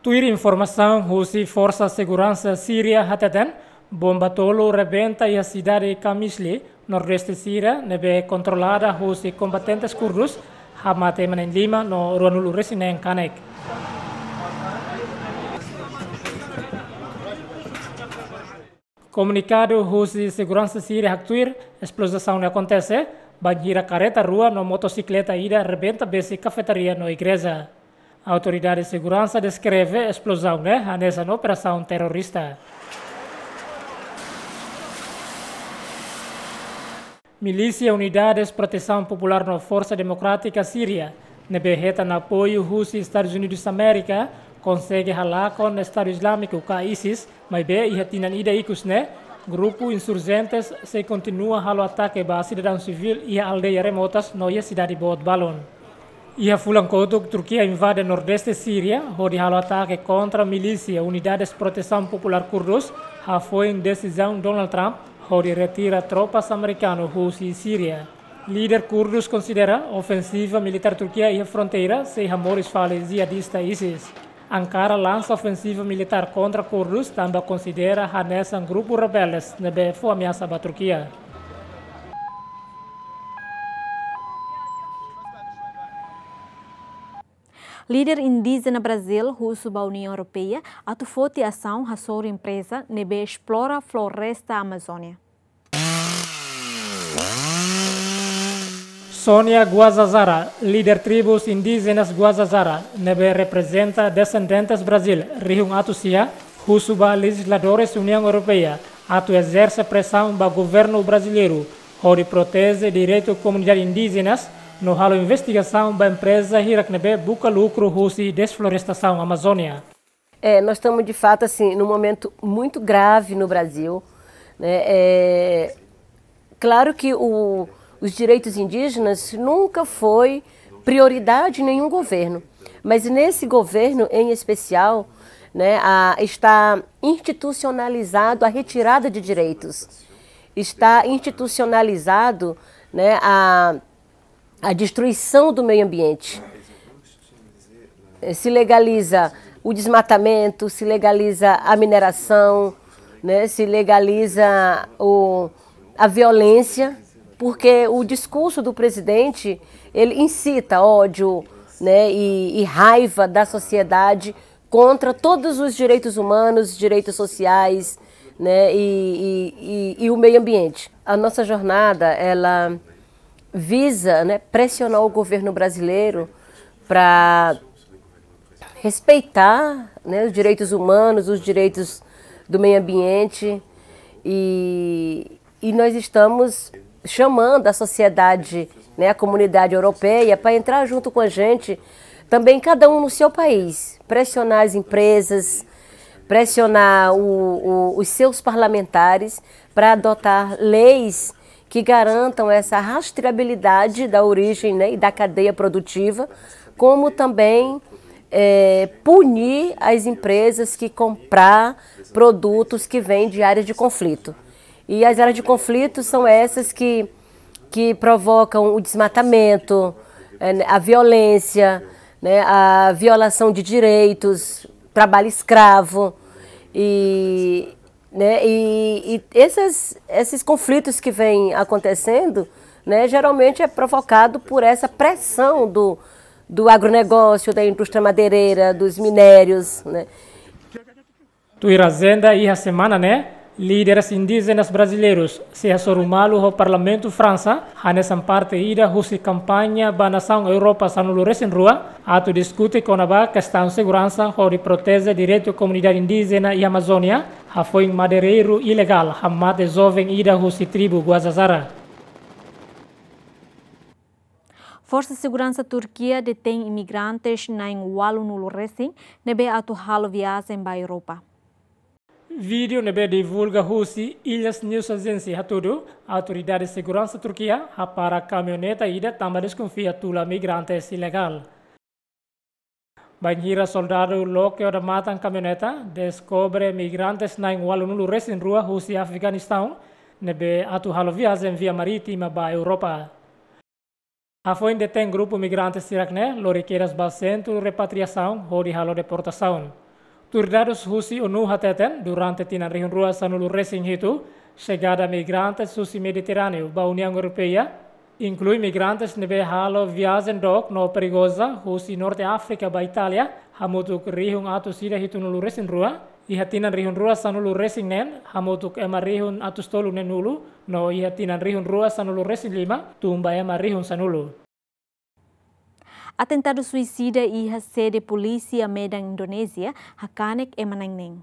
Tuir informasaun husi Forsa Seguransa Síria hateten, bomba tolu rebenta iha sidade Qamishli, nordeste Síria, ne'ebé kontrolada husi kombatentes kurdus, hamate ema na'in-lima no ruanulu resin neen kanek. Komunikadu husi seguransa Síria haktuir, esplozaun ne'e akontese bainhira karreta rua no motosikleta ida rebenta besik kafetaria no igreja. Autoridade seguransa deskreve esplozaun ne'e hanesan operasaun terrorista. Milísia Unidades Protesaun Populár no Forsa Demokrátika Síria, ne'ebé hetan apoiu husi Estadus Unidus Amérika, konsege halakon Estadu Izlámiku ka ISIS, maibé iha tinan ida ikus ne'e, grupu insurjentes sei kontinua halo atake ba sidadaun sivíl iha aldeia remotas no iha sidade boot balun. Iha fulan kotuk, Turkia invade nordeste Síria, hodi halo atake kontra milísia Unidades Protesaun Populár Kurdus, hafoin desizaun Donald Trump hodi retira tropas amerikanu husi Síria. Líder kurdus konsidera ofensiva militár Turkia iha fronteira sei hamoris fali jihadista ISIS. Ankara lansa ofensiva militár kontra kurdus tanba konsidera hanesan grupu rebeldes ne'ebé fó ameasa ba Turkia. Líder indíjena Brazíl husu ba Uniaun Europeia atu foti asaun hasoru empreza ne'ebé esplora floresta Amazónia. Sonia Guajajara, líder tribus indíjenas Guajajara, ne'ebé reprezenta desendentes Brazíl rihun atus sia, husu ba lejizladores Uniaun Europeia atu ezerse presaun ba governu brasileiru hodi proteje direitu komunidade indíjenas no halo investigasaun ba empreza hirak ne'ebé buka lukru husi desflorestasaun Amazónia. É, nós estamos, de fato, assim, num momento muito grave no Brasil, né? É, claro que o, os direitos indígenas nunca foi prioridade em nenhum governo. Mas nesse governo em especial, né, a, está institucionalizado a retirada de direitos, está institucionalizado, né, a, a destruição do meio ambiente. Eh, se legaliza o desmatamento, se legaliza a mineração, né, se legaliza o, a violência, porque o discurso do presidente, ele incita ódio, né, e, e raiva da sociedade contra todos os direitos humanos, direitos sociais, né, e, e, e, e o meio ambiente. A nossa jornada, ela visa, né, pressionar o governo brasileiro para respeitar, né, os direitos humanos, os direitos do meio ambiente. E, e nós estamos chamando a sociedade, né, a comunidade europeia para entrar junto com a gente, também cada um no seu país, pressionar as empresas, pressionar o, o, os seus parlamentares para adotar leis que garantam essa rastreabilidade da origem, né, e da cadeia produtiva, como também, eh, punir as empresas que comprar produtos que vêm de áreas de conflito. E as áreas de conflito são essas que, que provocam o desmatamento, eh, a violência, né, a violação de direitos, trabalho escravo. E, né, e, e esses, esses conflitos que vêm acontecendo, né, geralmente é provocado por essa pressão do, do agronegócio, da indústria madeireira, dos minérios, né? Tuir ajenda iha semana ne'e, líderes indíjenas brasileirus sei hasoru malu ho Parlamentu Fransa, hanesan parte ida husi kampaña ba nasaun Europa sanulu-resin-rua, atu diskute kona-ba kestaun seguransa hodi proteje direitu komunidade indíjena iha Amazónia, hafoin madeireiru ilegál hamate joven ida husi tribu Guajajara. Forsa Seguransa Turkia detein imigrantes na'in ualunulu-resin ne'ebé atu halo viajen ba Europa. Vídeo ne'ebé divulga husi Ilyas News Agency hatudu, autoridade seguransa Turkia hapara kamioneta ida tanba deskonfia tula migrantes ilegál. Bainhira soldadu loke odamatan kamioneta, deskobre migrantes na'in ualunulu-resin-rua husi Afeganistaun, ne'ebé atu halo viajen via marítima ba Europa. Hafoin detein grupu migrante sira-ne'e, lori kedas ba sentru repatriasaun hodi halo deportasaun. Tuir dadus husi ONU hateten, durante tinan rihun rua sanulu-resin-hitu, xegada migrantes husi Mediterráneu ba Uniaun Europeia, inklui migrantes ne'ebé halo viajen dook no perigoza husi Norte Áfrika ba Itália, hamutuk rihun atus ida hitunulu-resin-rua, iha tinan rihun rua sanulu-resin-neen, hamutuk ema rihun atus toluneenulu, no iha tinan rihun rua sanulu-resin-lima, tun ba ema rihun sanulu. Atentadu suisida iha sede polísia Medan, Indonézia, hakanek ema na'in neen.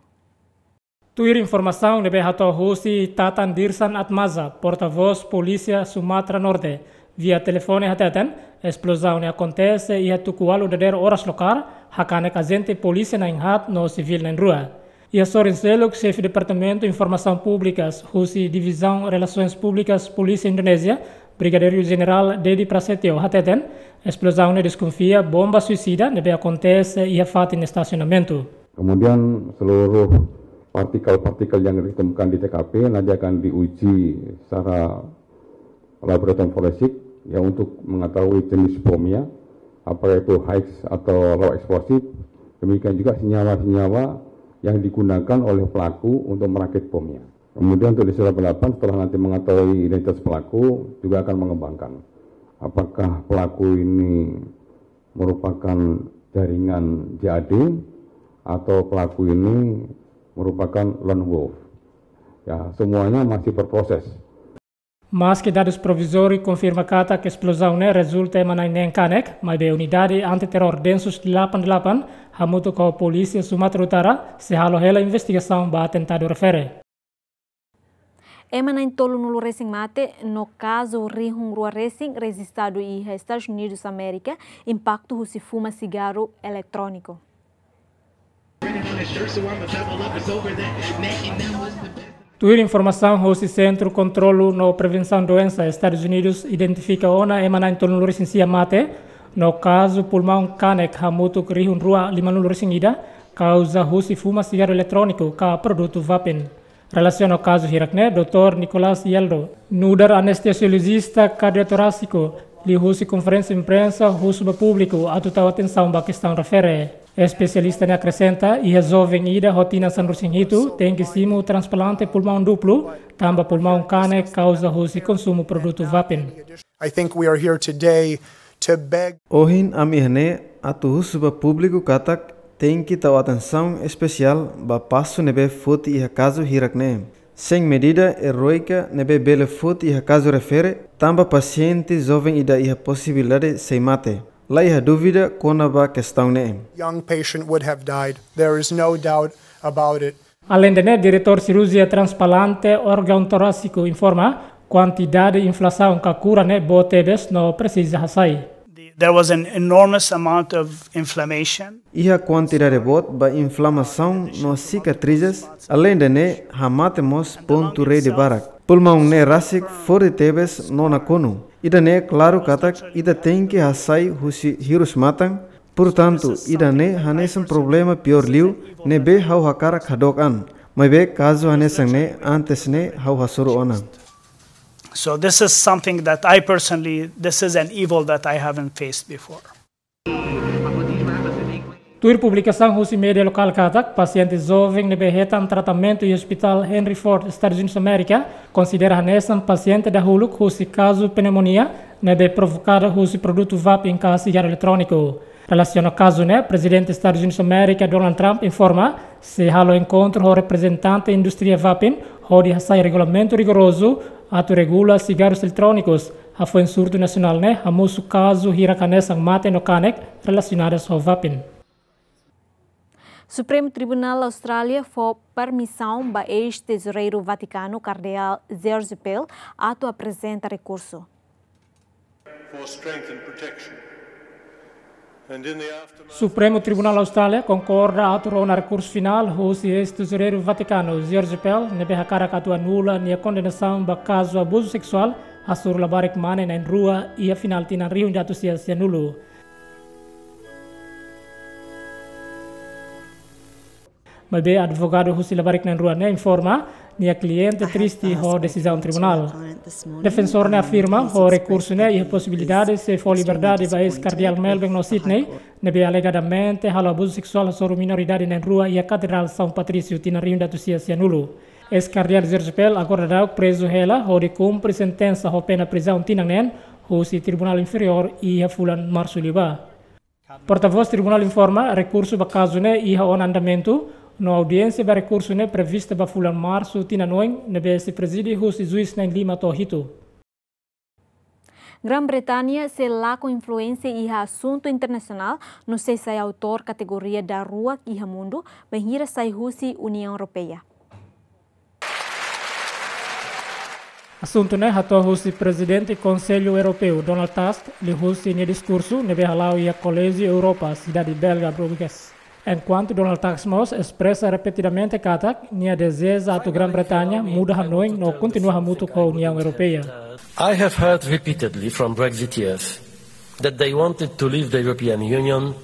Tuir informasaun ne'ebé hato'o husi Tatan Dirsan Atmaza, portavós Polísia Sumatra Norte, via telefone hateten, esplozaun ne'e akontese iha tuku ualu dadeer oras lokál, hakanek ajente polísia na'in haat no sivíl na'in rua. Iha sorin seluk, xefe Departamentu Informasaun Públikas husi Divizaun Relasoens Públikas Polísia Indonézia, Brigadeiru Jenerál Dedi Prasetyo hateten, esplozaun ne'e deskonfia bomba suisida ne'ebé akontese iha fatin estasionamentu. Kemudian seluruh partikel-partikel yang ditemukan di T K P nanti akan diuji secara laboratorium forensik, ya, untuk mengetahui jenis bomnya, apakah itu high atau low explosive, demikian juga senyawa-senyawa yang digunakan oleh pelaku untuk merakit bomnya. Kemudian untuk di Sulawesi Selatan, setelah nanti mengetahui identitas pelaku, juga akan mengembangkan. Apakah pelaku ini merupakan jaringan J A D atau pelaku ini merupakan lone wolf? Ya, semuanya masih berproses. Maske dadus provizóriu konfirma katak esplozaun ne'e rezulta ema na'in neen kanek, maibé unidade anti-terror Densus delapan delapan, hamutuk ho Polísia Sumatra Utara, sei halo hela investigasaun ba atentadu refere. Ema na'in tolunulu-resin mate, no kazu rihun rua-resin rejistadu iha Estadus Unidus Amérika, impaktu husi fuma sigarru eletróniku. Tuir informasaun husi Sentru Kontrolu no Prevensaun Doensa Estadus Unidus, identifika ona ema na'in tolunulu-resin-sia mate, No kazu pulmaun kanek hamutuk rihun rua limanulu-resin-ida, kauza husi fuma sigarru eletróniku ka produtu vapen. Relasiona ho kazu hirak-ne'e, doutór Nicolas Yeldo, nu'udar anestesiolojista kardiotorásiku, liuhusi konferénsia imprensa husu ba públiku atu tau atensaun ba kestaun refere. Espesialista ne'e akresenta, iha joven ida ho tinan sanulu-resin-hitu tenke simu transplante pulmaun duplu, tanba pulmaun kanek kauza husi konsumu produtu vapen. I think we are here today to beg. Ohin ami iha ne'e atu husu ba públiku katak tenke tau atensaun espesiál ba pasu ne'ebé foti iha kazu hirak-ne'e. Sein medida eróika ne'ebé bele foti iha kazu refere, tanba pasiente joven ida iha posibilidade sei mate. La iha dúvida kona-ba kestaun ne'e. Young patient would have died. There is no doubt about it. Aleinde ne'e, diretór sirurjia transplante órgaun torásiku informa, kuantidade inflamasaun ka kura ne'e boot tebes no presiza hasai. The- there was an enormous amount of inflammation. Iha kuantidade boot ba inflamasaun no sikatrizes, aleinde ne'e hamate mós pontu rede barak. Pulmaun ne'e rasik forte tebes no nakonu. Ida-ne'e klaru katak ita tenke hasai husi hirus-matan. Portantu, ida-ne'e hanesan problema piór liu ne'ebé ha'u hakarak hadook an. Maibé kazu hanesan ne'e antes ne'e ha'u hasoru ona. So this is something that I personally, this is an evil that I haven't faced before. Tuir publikasaun husi média lokál katak, pasiente joven ne'ebé hetan tratamentu iha Hospital Henry Ford, Estadus Unidus Amérika, konsidera hanesan pasiente dahuluk husi kazu pneumonia ne'ebé provokadu husi produtu vapen ka sigarru eletróniku. Relasiona ho kazu ne'e, Prezidente Estadus Unidus Amérika, Donald Trump, informa sei halo enkontru ho reprezentante indústria vapen hodi hasai regulamentu rigorozu atu regula sigarrus eletrónikus. Hafoin surtu nasionál ne'e hamosu kazu hirak hanesan mate no kanek relasionadu ho vapen. Supremu Tribunál Austrália fó permisaun ba eis-tezoureiru Vatikanu Kardeál George Pell atu aprezenta rekursu. For strength and protection. And in the aftermath Supremu Tribunál Austrália konkorda atu rona rekursu finál husi eis-tezoureiru Vatikanu George Pell ne'ebé hakarak atu anula nia kondenasaun ba kazu abuzu seksuál hasoru labarik mane na'in-rua iha final tinan rihun ida atus sia sianulu. Maibé advogadu husi labarik na'in-rua ne'e informa, nia kliente triste ho desizaun tribunál. Defensór ne'e afirma, ho rekursu ne'e iha posibilidade sei fó liberdade ba eis-kardeál Melbourne no Sidney, ne'ebé alegadamente halo abuzu seksuál hasoru minoridade na'in-rua iha Katedrál São Patrício tinan rihun ida atus sia sianulu. Eis-kardeál George Pell agora daudaun prezu hela hodi kumpre sentensa ho pena prizaun tinan neen husi Tribunál Inferiór iha fulan Marsu liubá. Portavós Tribunál informa, rekursu ba kazu ne'e iha ona andamentu, no audiénsia ba rekursu ne'e prevista ba fulan Marsu tinan oin, ne'ebé sei prezide husi juís na'in-lima to'o hitu. Grã-Bretanya sei lakon influénsia iha asuntu internasionál, no sei sai autór kategoria daruak iha mundu, bainhira sai husi Uniaun Europeia. Asuntu ne'e hato'o husi Prezidente Konsellu Europeu, Donald Tusk, liuhusi nia diskursu ne'ebé hala'o iha Koléjiu Europa, sidade belga Bruges. Enkuantu Donald Tusk mós espresa repetidamente katak nia dezeja atu Grã-Bretanya muda hanoin no kontinua hamutuk ho Uniaun Europeia. I have heard repeatedly from Brexiteers that they wanted to leave the European Union.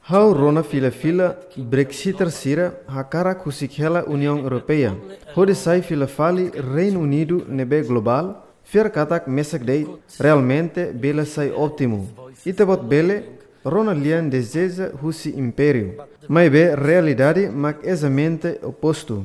Ha'u rona fila-fila Brexiter sira hakarak husik hela Uniaun Europeia, hodi sai fila fali Reinu Unidu ne'ebé globál, fiar katak mesak de'it, realmente bele sai ótimu. Ita-boot bele rona lian dezeja husi impériu. Maibé realidade mak ezatamente opostu.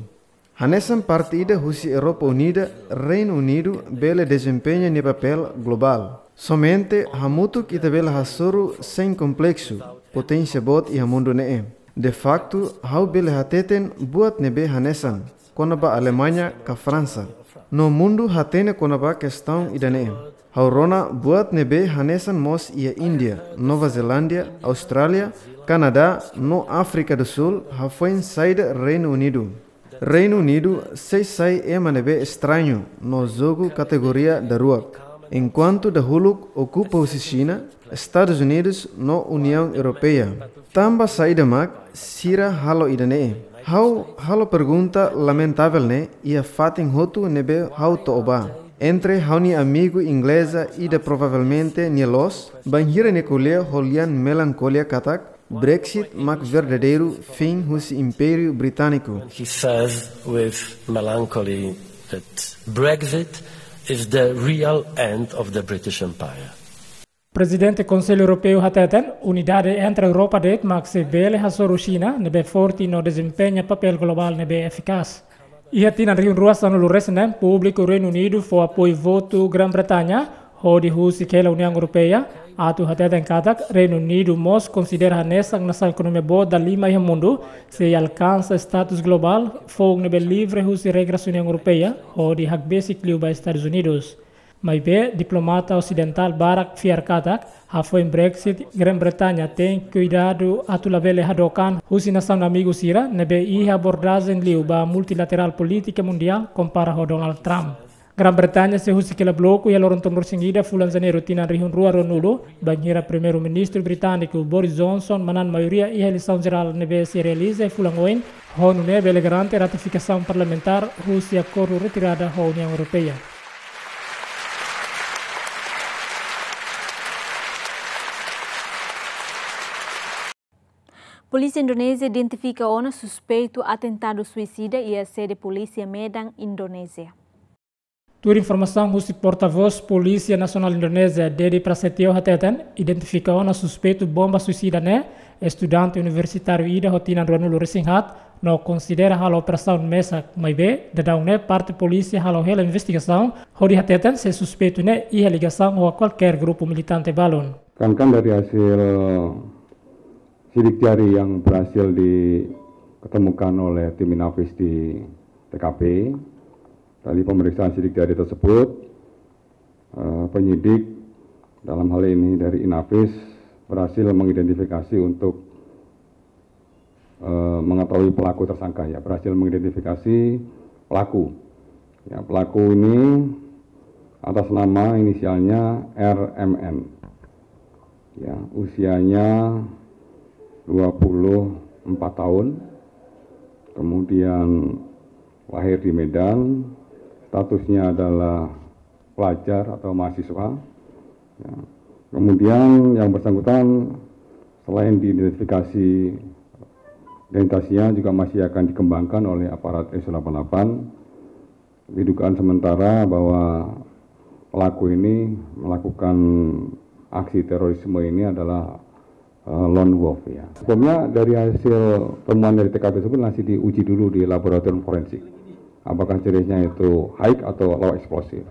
Hanesan parte ida husi Europa Unida, Reinu Unidu bele dezempeña nia papél globál. Somente hamutuk ita bele hasoru sein kompleksu, poténsia boot iha mundu ne'e. De faktu, ha'u bele hateten buat ne'ebé hanesan kona-ba Alemaña ka Fransa. No mundu hatene kona-ba kestaun ida-ne'e. Ha'u rona buat ne'ebé hanesan mós iha Índia, Nova Zelándia, Austrália, Kanadá, no Áfrika do Sul, hafoin saida Reinu Unidu. Reinu Unidu sei sai ema ne'ebé estrañu no jogu kategoria daruak. Enkuantu dahuluk okupa husi Xina, Estadus Unidus no Uniaun Europeia. Tanba saida mak sira halo ida-ne'e? Ha'u halo pergunta lamentavel ne'e iha fatin hotu ne'ebé ha'u to'o ba. Entre ha'u-nia amigu ingleza ida provavelmente nia loos, bainhira nia ko'alia ho lian melankolia katak, Brexit mak verdadeiru fin husi Impériu Britániku. He says with melancholy that Brexit is the real end of the British Empire. Prezidente Konsellu Europeu hateten, unidade entre Europa de'it mak sei bele hasoru Xina ne'ebé forte no dezempeña papél globál ne'ebé efikás. Iha tinan rihun rua sanulu resin neen, públiku Reinu Unidu fó apoiu votu Grã-Bretaña hodi husik hela Uniaun Europeia, atu hateten katak Reinu Unidu mós konsidera hanesan nasaun ekonomia boot dalima iha mundu, sei alkansa status globál, foun ne'ebé livre husi regras Uniaun Europeia, hodi hakbesik liu ba Estadus Unidus. Maibé, diplomata osidentál barak fiar katak, hafoin Brexit, Grã-Bretaña tenke kuidadu atu labele hadook an husi nasaun amigu sira, ne'ebé iha abordajen liu ba multilaterál polítika mundiál kompara ho Donald Trump. Grã-Bretaña sei husik hela bloku iha loron tolunulu-resin-ida fulan Janeiru tinan rihun rua ruanulu, bainhira Primeiru-Ministru Britániku Boris Johnson manán maioria iha eleisaun jerál ne'ebé sei realiza iha fulan oin, ho nune'e bele garante ratifikasaun parlamentár husi akordu retirada ho Uniaun Europeia. Polísia Indonézia identifika ona suspeitu atentadu suisida iha sede polísia Medan, Indonézia. Tuir informasaun husi portavós Polísia Nasionál Indonézia, Dedi Prasetyo hateten, identifika ona suspeitu bomba suisida ne'e, estudante universitáriu ida ho tinan ruanulu-resin-haat, no konsidera halo operasaun mesak, maibé, daudaun ne'e parte polísia halo hela investigasaun, hodi hateten se suspeitu ne'e iha ligasaun ho kualkér grupu militante balun. Kan, kan dari hasil sidik jari yang berhasil diketemukan oleh tim Inafis di T K P, dari pemeriksaan sidik jari tersebut, eh, penyidik dalam hal ini dari Inafis berhasil mengidentifikasi untuk, eh, mengetahui pelaku tersangka, ya, berhasil mengidentifikasi pelaku. Ya, pelaku ini atas nama inisialnya R M N. Ya, usianya dua puluh empat tahun. Kemudian lahir di Medan, statusnya adalah pelajar atau mahasiswa. Ya. Kemudian yang bersangkutan selain diidentifikasi identitasnya juga masih akan dikembangkan oleh aparat S delapan delapan. Didugaan sementara bahwa pelaku ini melakukan aksi terorisme ini adalah, eh, lone wolf, ya. Sebelumnya dari hasil temuan dari T K P tersebut masih diuji dulu di laboratorium forensik. Apakah jenisnya itu high atau low explosive.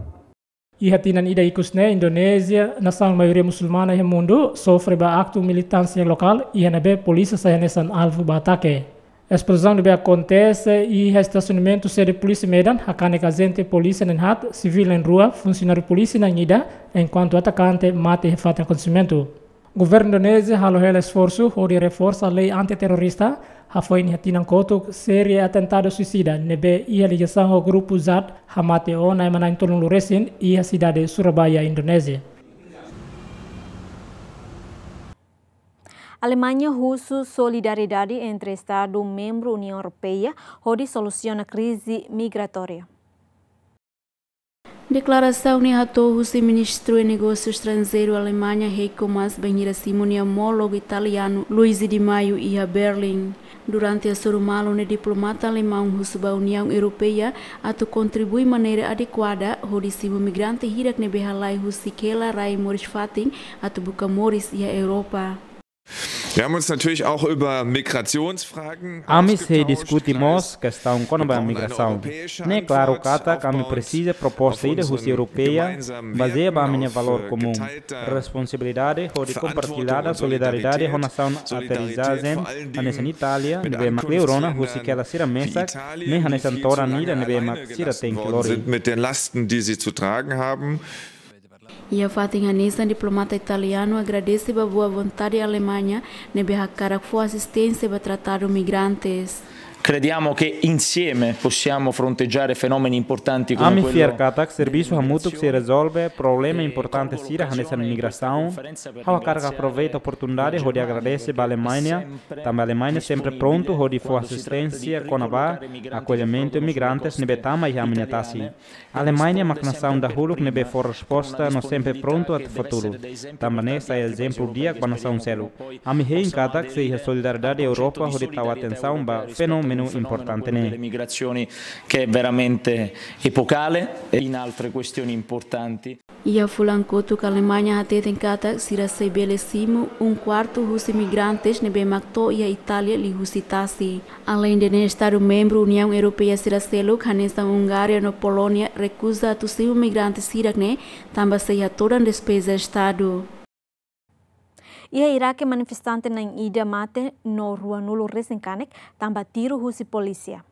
Iha tinan ida ikus ne'e Indonézia, nasaun maioria musulmana iha mundu, sofre ba aktu militánsia lokál, iha ne'ebé polísia sai hanesan alvu ba atake. Esplozaun ne'ebé akontese iha estasionamentu sede polísia Medan, hakanek ajente polísia na'in haat, sivíl na'in rua, funsionáriu polísia na'in ida, enkuantu atakante mate iha fatin akontesimentu. Governu Indonézia halo hela esforsu hodi reforsa lei anti-terrorista, hafoin iha tinan kotuk série atentadu suisida ne'ebé iha ligasaun ho grupu Jad hamate ona ema na'in tolunulu resin iha sidade Surabaya, Indonézia. Alemaña husu solidariedade entre Estadu membru Uniaun Europeia hodi solusiona krize migratória. Deklarasaun ne'e hato'o husi Ministru Negósiu Estranjeiru Alemaña, Heiko Maas, bainhira simu nia omólogu italianu, Luigi Di Maio, iha Berlim. Durante hasoru malu ne'e, diplomata alemaun husu ba Uniaun Europeia atu kontribui maneira adekuada hodi simu migrante hirak ne'ebé halai husik hela rai moris fatin atu buka moris iha Europa. Wir haben uns natürlich auch über Migrationsfragen ausgetauscht. Ami sei diskute mós kestaun kona-ba migrasaun. Ne'e klaru katak ami presiza proposta ida husi Europeia, bazeia ba ami-nia valór komún, responsabilidade hodi kompartillada solidariedade ho nasaun aterrizajen, hanesan Itália, ne'ebé mak liu rona husik hela sira mesak, ne'e hanesan todan ida ne'ebé mak sira tenke lori. Mit den Lasten, die sie zu tragen haben. Iha fatin hanesan, diplomata italianu agradese ba boa vontade Alemaña ne'ebé hakarak fó asisténsia ba tratadu migrantes. Crediamo che insieme possiamo fronteggiare fenomeni importanti come Ami fiar katak servisu hamutuk sei rezolve problema importante sira hanesan migrasaun. Ha'u hakarak aproveita oportunidade hodi agradese ba Alemanha, tanba Alemanha sempre prontu hodi fó asisténsia kona-ba akollimentu migrantes ne'ebé tama iha ami-nia tasi. Alemanha mak nasaun dahuluk ne'ebé fó resposta no sempre prontu atu fó tulun. Tanba ne'e sai ezemplu di'ak ba nasaun seluk. Ami hein katak sei iha solidariedade Europa hodi tau atensaun ba fenómenu importante ne'e. Delle migrazioni che è veramente epocale e in altre questioni importanti. Iha fulan kotuk Alemanha hateten katak sira sei bele simu um quarto husi migrantes ne'ebé mak to'o iha Itália liuhusi tasi. Aleinde ne'e, Estadu membru Uniaun Europeia sira seluk, hanesan Hungária no Polónia, rekuza atu simu migrante sira-ne'e, tanba sei hatodan despeza Estadu. Iha Iraque, manifestante na'in ida mate no ruanulu resin kanek tanba tiru husi polísia.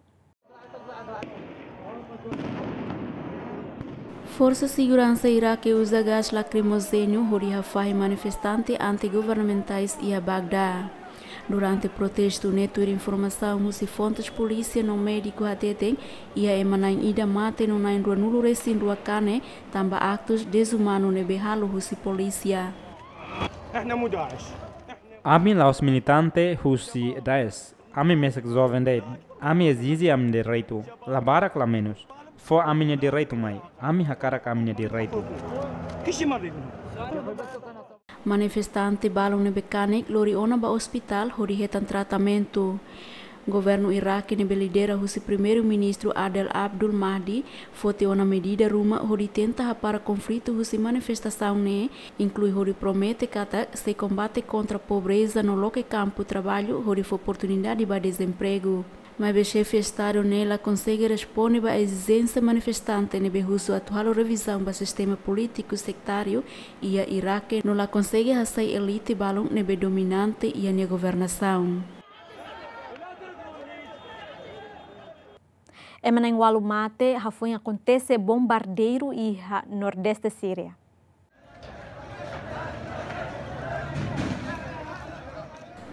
Forsa seguransa Iraque uza gás lacrimogéneo hodi hafahe manifestante anti-governamentais iha Bagdá. Durante protestu ne'e, tuir informasaun husi fontes polísia no médiku hateten, iha ema na'in ida mate no na'in ruanulu resin rua kanek tanba aktus dezumanu ne'ebé halo husi polísia. Ami la'ós militante husi Daesh. Ami mesak joven de'it. Ami ezije ami-nia direitu. La barak la menus. Fó ami-nia direitu mai. Ami hakarak ami-nia direitu. Manifestante balun ne'ebé kanek lori ona ba ospitál hodi hetan tratamentu. Governu Iraque ne'ebé lidera husi Primeiru-Ministru Adel Abdul Mahdi foti ona medida ruma hodi tenta hapara konflitu husi manifestasaun ne'e, inklui hodi promete katak sei kombate kontra pobreza no loke kampu traballu hodi fó oportunidade ba dezempregu. Maibé xefe Estadu ne'e la konsege responde ba ezijénsia manifestante ne'ebé husu atu halo revizaun ba sistema polítiku sektáriu iha Iraque no la konsege hasai elite balun ne'ebé dominante iha nia governasaun. Ema na'in ualu mate hafoin akontese bombardeiru iha Nordeste Síria.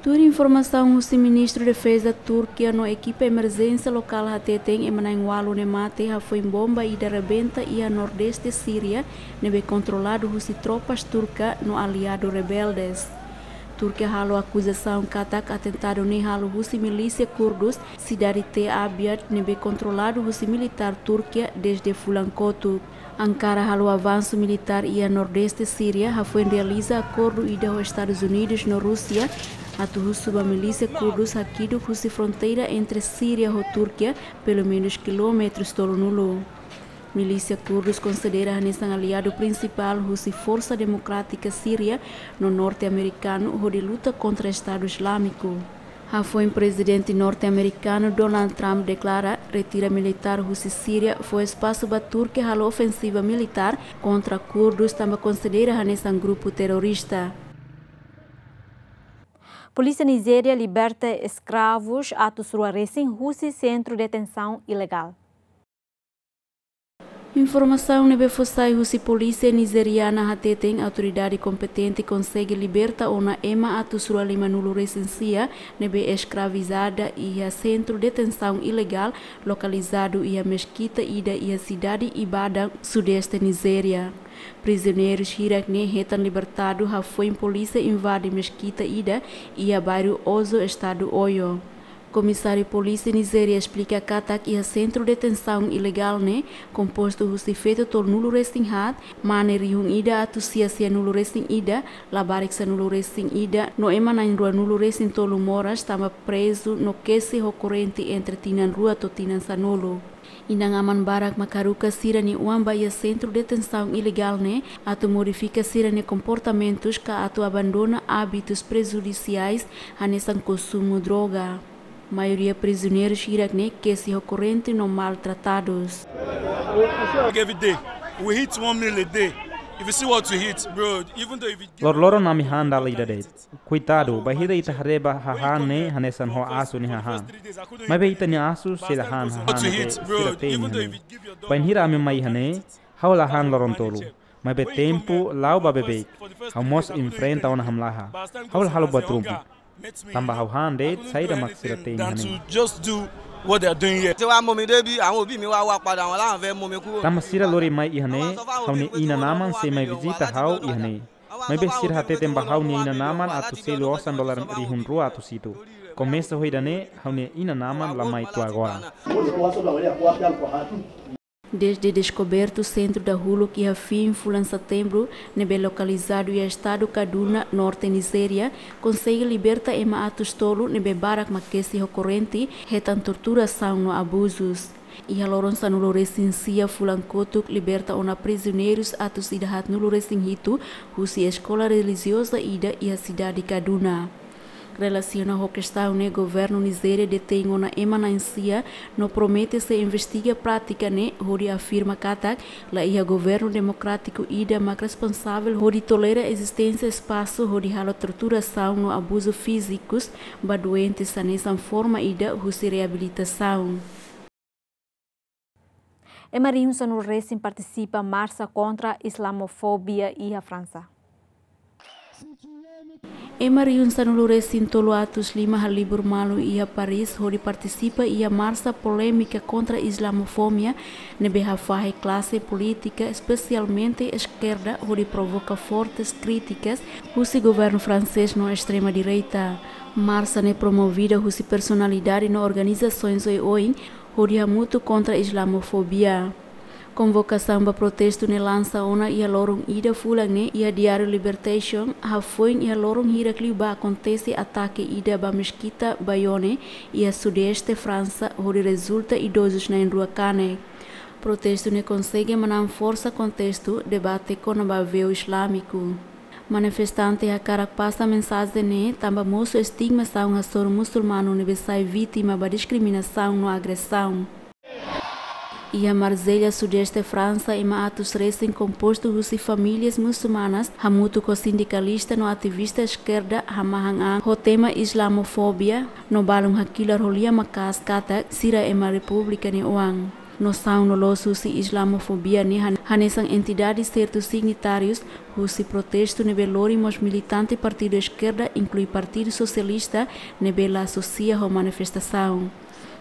Tuir informasaun husi Ministru Defeza Turkia no ekipa emerjénsia lokál hateten, ema na'in ualu ne'e mate hafoin bomba ida rebenta iha Nordeste Síria, ne'ebé kontroladu husi tropas turka no aliadu rebeldes. Turkia halo akuzasaun katak atentadu ne'e halo husi milísia kurdus sidade Te Abyad ne'ebé kontroladu husi militár Turkia dezde fulan kotuk. Ankara halo avansu militár iha Nordeste Síria hafoin realiza akordu ida ho Estadus Unidus no Rúsia atu husu ba milísia kurdus hakiduk husi fronteira entre Síria ho Turkia pelumenus kilómetrus tolunulu. Milísia kurdus konsidera hanesan aliadu prinsipál husi Forsa Demokrátika Síria no norte-amerikanu hodi luta kontra Estadu Islámiku. Hafoin Prezidente norte-amerikanu Donald Trump deklara retira militár husi Síria fó espasu ba Turkia halo ofensiva militár kontra kurdus tanba konsidera hanesan grupu terrorista. Polísia Nizéria liberta eskravus atus rua resin husi sentru detensaun ilegál. Informasaun ne'ebé fó sai husi polísia nizeriana hateten autoridade kompetente konsege liberta ona ema atus rua limanulu resin sia ne'ebé eskravizada iha sentru detensaun ilegál lokalizadu iha meskita ida iha sidade Ibadan, sudeste Nizéria. Prizioneirus hirak-ne'e hetan libertadu hafoin polísia invade meskita ida iha bairru Ozo, estadu Oyo. Komisáriu Polísia Nizéria esplika katak iha sentru detensaun ilegál ne'e, kompostu husi feto tolunulu resin haat, mane rihun ida atus sia sianulu resin ida, labarik sanulu resin ida, no ema na'in ruanulu resin tolu moras tanba prezu no kesi ho korrente entre tinan rua to'o tinan sanulu. Inan-aman barak mak haruka sira-nia oan ba iha sentru detensaun ilegál ne'e atu modifika sira-nia komportamentus ka atu abandona ábitus prejudisiais hanesan konsumu droga. Maioria prizioneirus hirak-ne'e kesi ho korrente no maltratadus. Like every day, we hit one meal a day. If you see what we hit, bro, even though if you give Loroloron ami han dala ida de'it. Koitadu, bainhira ita haree ba hahán ne'e hanesan ho asu nia hahán. Maibé ita-nia asu sei la han hahán ne'ebé sira te'in iha ne'e. Bainhira ami mai iha ne'e, ha'u la han loron tolu. Maibé tempu la'o ba beibeik. Ha'u mós enfrenta ona hamlaha. Ha'u la halo buat ruma. Tanba ha'u han de'it saida mak sira te'in iha ne'e. Tanba sira lori mai iha ne'e, ha'u-nia inan-aman sei mai vizita ha'u iha ne'e. Maibé sira hateten ba ha'u-nia inan-aman atu selu osan dolar rihun rua atus hitu. Komesa husi ida-ne'e, ha'u-nia inan-aman la mai to'o agora. Desde deskobertu sentru dahuluk iha fin fulan Setembru, ne'ebé lokalizadu iha estadu Kaduna, norte Nizéria, konsege liberta ema atus tolu ne'ebé barak mak kesi ho korrente, hetan torturasaun no abuzus. Iha loron sanulu-resin-sia fulan kotuk liberta ona prizioneirus atus ida haatnulu-resin-hitu husi eskola relijioza ida iha sidade Kaduna. Relasiona ho kestaun ne'e, governu Nizéria detein ona ema na'in-sia no promete sei investiga prátika ne'e hodi afirma katak laiha governu demokrátiku ida mak responsavel hodi tolera ezisténsia espasu hodi halo torturasaun no abuzu fízikus ba doentes hanesan forma ida husi reabilitasaun. Ema rihun sanulu-resin partisipa marsa kontra islamofobia iha Fransa. Ema rihun sanulu-resin-tolu atus lima halibur malu iha Paris hodi partisipa iha marsa polémika kontra islamofobia ne'ebé hafahe klase polítika, espesialmente eskerda, hodi provoka fortes krítikas husi governu fransés no estrema-direita. Marsa ne'e promovida husi personalidade no organizasoens oioin hodi hamutuk kontra islamofobia. Konvokasaun ba protestu ne'e lansa ona iha loron ida fulan ne'e iha diáriu Libération, hafoin iha loron hirak liubá akontese atake ida ba meskita Bayonne, iha sudeste Fransa, hodi rezulta idozus na'in-rua kanek. Protestu ne'e konsege manán forsa kontestu debate kona-ba veiu islámiku. Manifestante hakarak pasa mensajen ne'e tanba mosu estigmasaun hasoru musulmanu ne'ebé sai vítima ba diskriminasaun no agresaun. Iha Marsella, sudeste Fransa, ema atus resin kompostu husi famílias musulmanas hamutuk ho sindikalista no ativista eskerda hamahan an ho tema islamofobia, no balun hakilar ho lian maka'as katak sira ema repúblika nia oan. Nosaun loloos husi islamofobia ne'e han-, hanesan entidade sertu signatárius husi protestu ne'ebé lori mós militante partidu eskerda, inklui Partidu Sosialista, ne'ebé la asosia ho manifestasaun.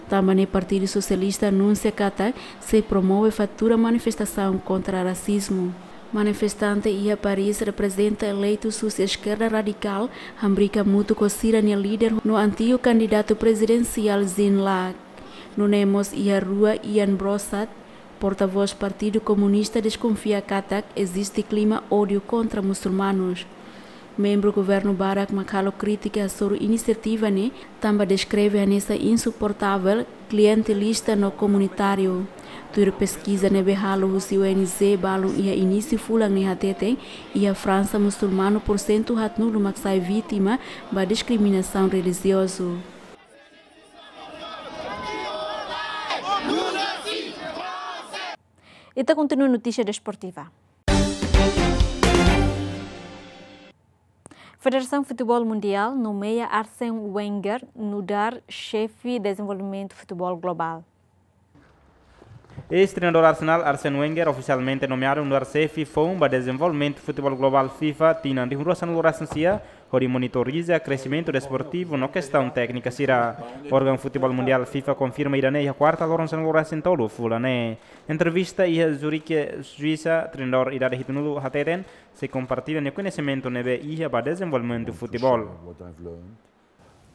Tanba ne'e Partidu Sosialista anunsia katak sei promove fatura manifestasaun kontra rasizmu. Manifestante iha Paris reprezenta eleitus husi eskerda radikál, hamriik hamutuk ho sira-nia líder no antigu kandidatu prezidensiál Jean Lac. Nune'e mós iha rua Ian Brossat, portavós Partidu Komunista, deskonfia katak eziste klima ódiu kontra musulmanus. Membru governu barak mak halo krítika hasoru inisiativa ne'e, tanba deskreve hanesan insuportavel, klientelista no komunitáriu. Tuir peskiza ne'ebé halo husi O N G balun iha inísiu fulan ne'e hateten, iha Fransa musulmanu porsentu haatnulu mak sai vítima ba diskriminasaun relijiozu. Ita kontinua notísia desportiva. Federasaun Futeból Mundiál nomeia Arsene Wenger nu'udar xefe dezenvolvimentu futeból globál. Eis-treinadór Arsenal, Arsene Wenger, ofisialmente nomeadu nu'udar xefe foun ba dezenvolvimentu futeból globál FIFA tinan rihun rua sanulu-resin-sia, hodi monitoriza kresimentu desportivu no kestaun téknika sira. Órgaun Futeból Mundiál FIFA konfirma ida-ne'e iha kuarta loron sanulu-resin-tolu fulan ne'e. Entrevista iha Zurich, Suisa, treinadór idade hitunulu hateten, sei kompartilla nia koñesimentu ne'ebé iha ba dezenvolvimentu futeból.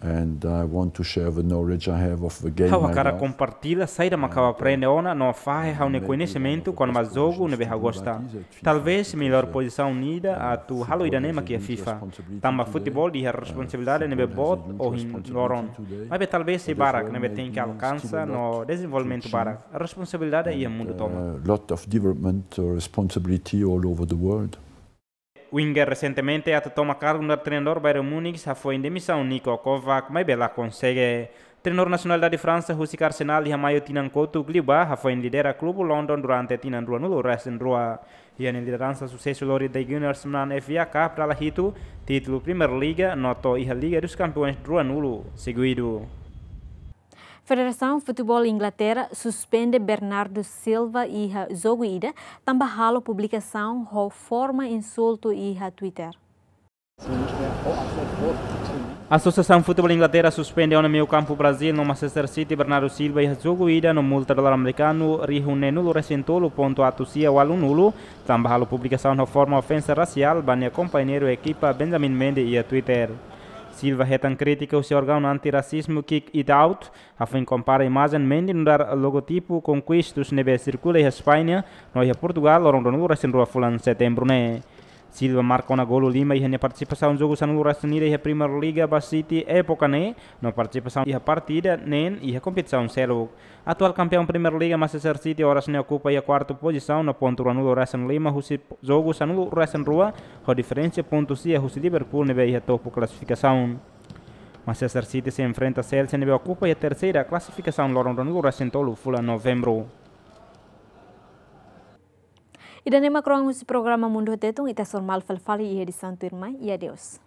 And I want to share the knowledge I have of the game. Ha'u hakarak kompartilla saida mak ha'u aprende ona no fahe ha'u-nia koñesimentu kona-ba jogu ne'ebé ha'u gosta. Talvez mellór pozisaun ida atu halo ida-ne'e mak iha FIFA. Tanba futeból iha responsabilidade ne'ebé boot ohin loron. Maibé talvez sei barak ne'ebé tenke alkansa no dezenvolvimentu barak. Responsabilidade iha mundu tomak. A lot of development, uh, responsibility all over the world. Wenger resentemente atu toma kargu nu'udar treinadór Bayern Munich hafoin demisaun Niko Kovac, maibé la konsege. Treinadór nasionalidade Fransa husik Arsenal iha maiu tinan kotuk liubá, hafoin lidera klube London durante tinan ruanulu-resin-rua. Iha nia lideransa susesu lori The Gunners manán F A Cup dala hitu, títulu Premier League, no to'o iha Liga dos Campeões ruanulu seguidu. Federasaun Futeból Inglaterra suspende Bernardo Silva iha jogu ida, tanba halo publikasaun ho forma insultu iha Twitter. Asosiasaun Futeból Inglaterra suspende ona meiu-kampu Brazil no Manchester City, Bernardo Silva, iha jogu ida no multa dolar amerikanu rihun neenulu resin tolu pontu atus sia ualunulu, tanba halo publikasaun ho forma ofensa rasiál ba nia kompañeiru ekipa Benjamin Mendy iha Twitter. Silva hetan krítika husi órgaun anti-rasizmu Kick It Out, hafoin kompara imajen Mendy nu'udar logotipu Conquistus ne'ebé sirkula iha España no iha Portugal loron ruanulu resin rua fulan Setembru ne'e. Silva marka ona golu lima iha nia partisipasaun jogu sanulu resin ida iha Primeira Liga ba City époka ne'e, no partisipasaun iha partida neen iha kompetisaun seluk. Atuál kampeaun Primeira Liga Manchester City oras ne'e okupa iha kuartu pozisaun no pontu ruanulu resin lima husi jogu sanulu resin rua, ho diferensa pontu sia husi Liverpool ne'ebé iha topu klasifikasaun. Manchester City sei enfrenta Chelsea ne'ebé okupa iha terseira klasifikasaun loron ruanulu resin tolu fulan Novembru. Ida-ne'e mak kroan husi programa Mundu Tetun, ita sei hasoru malu fali fali iha edisaun tuirmai, i adeus.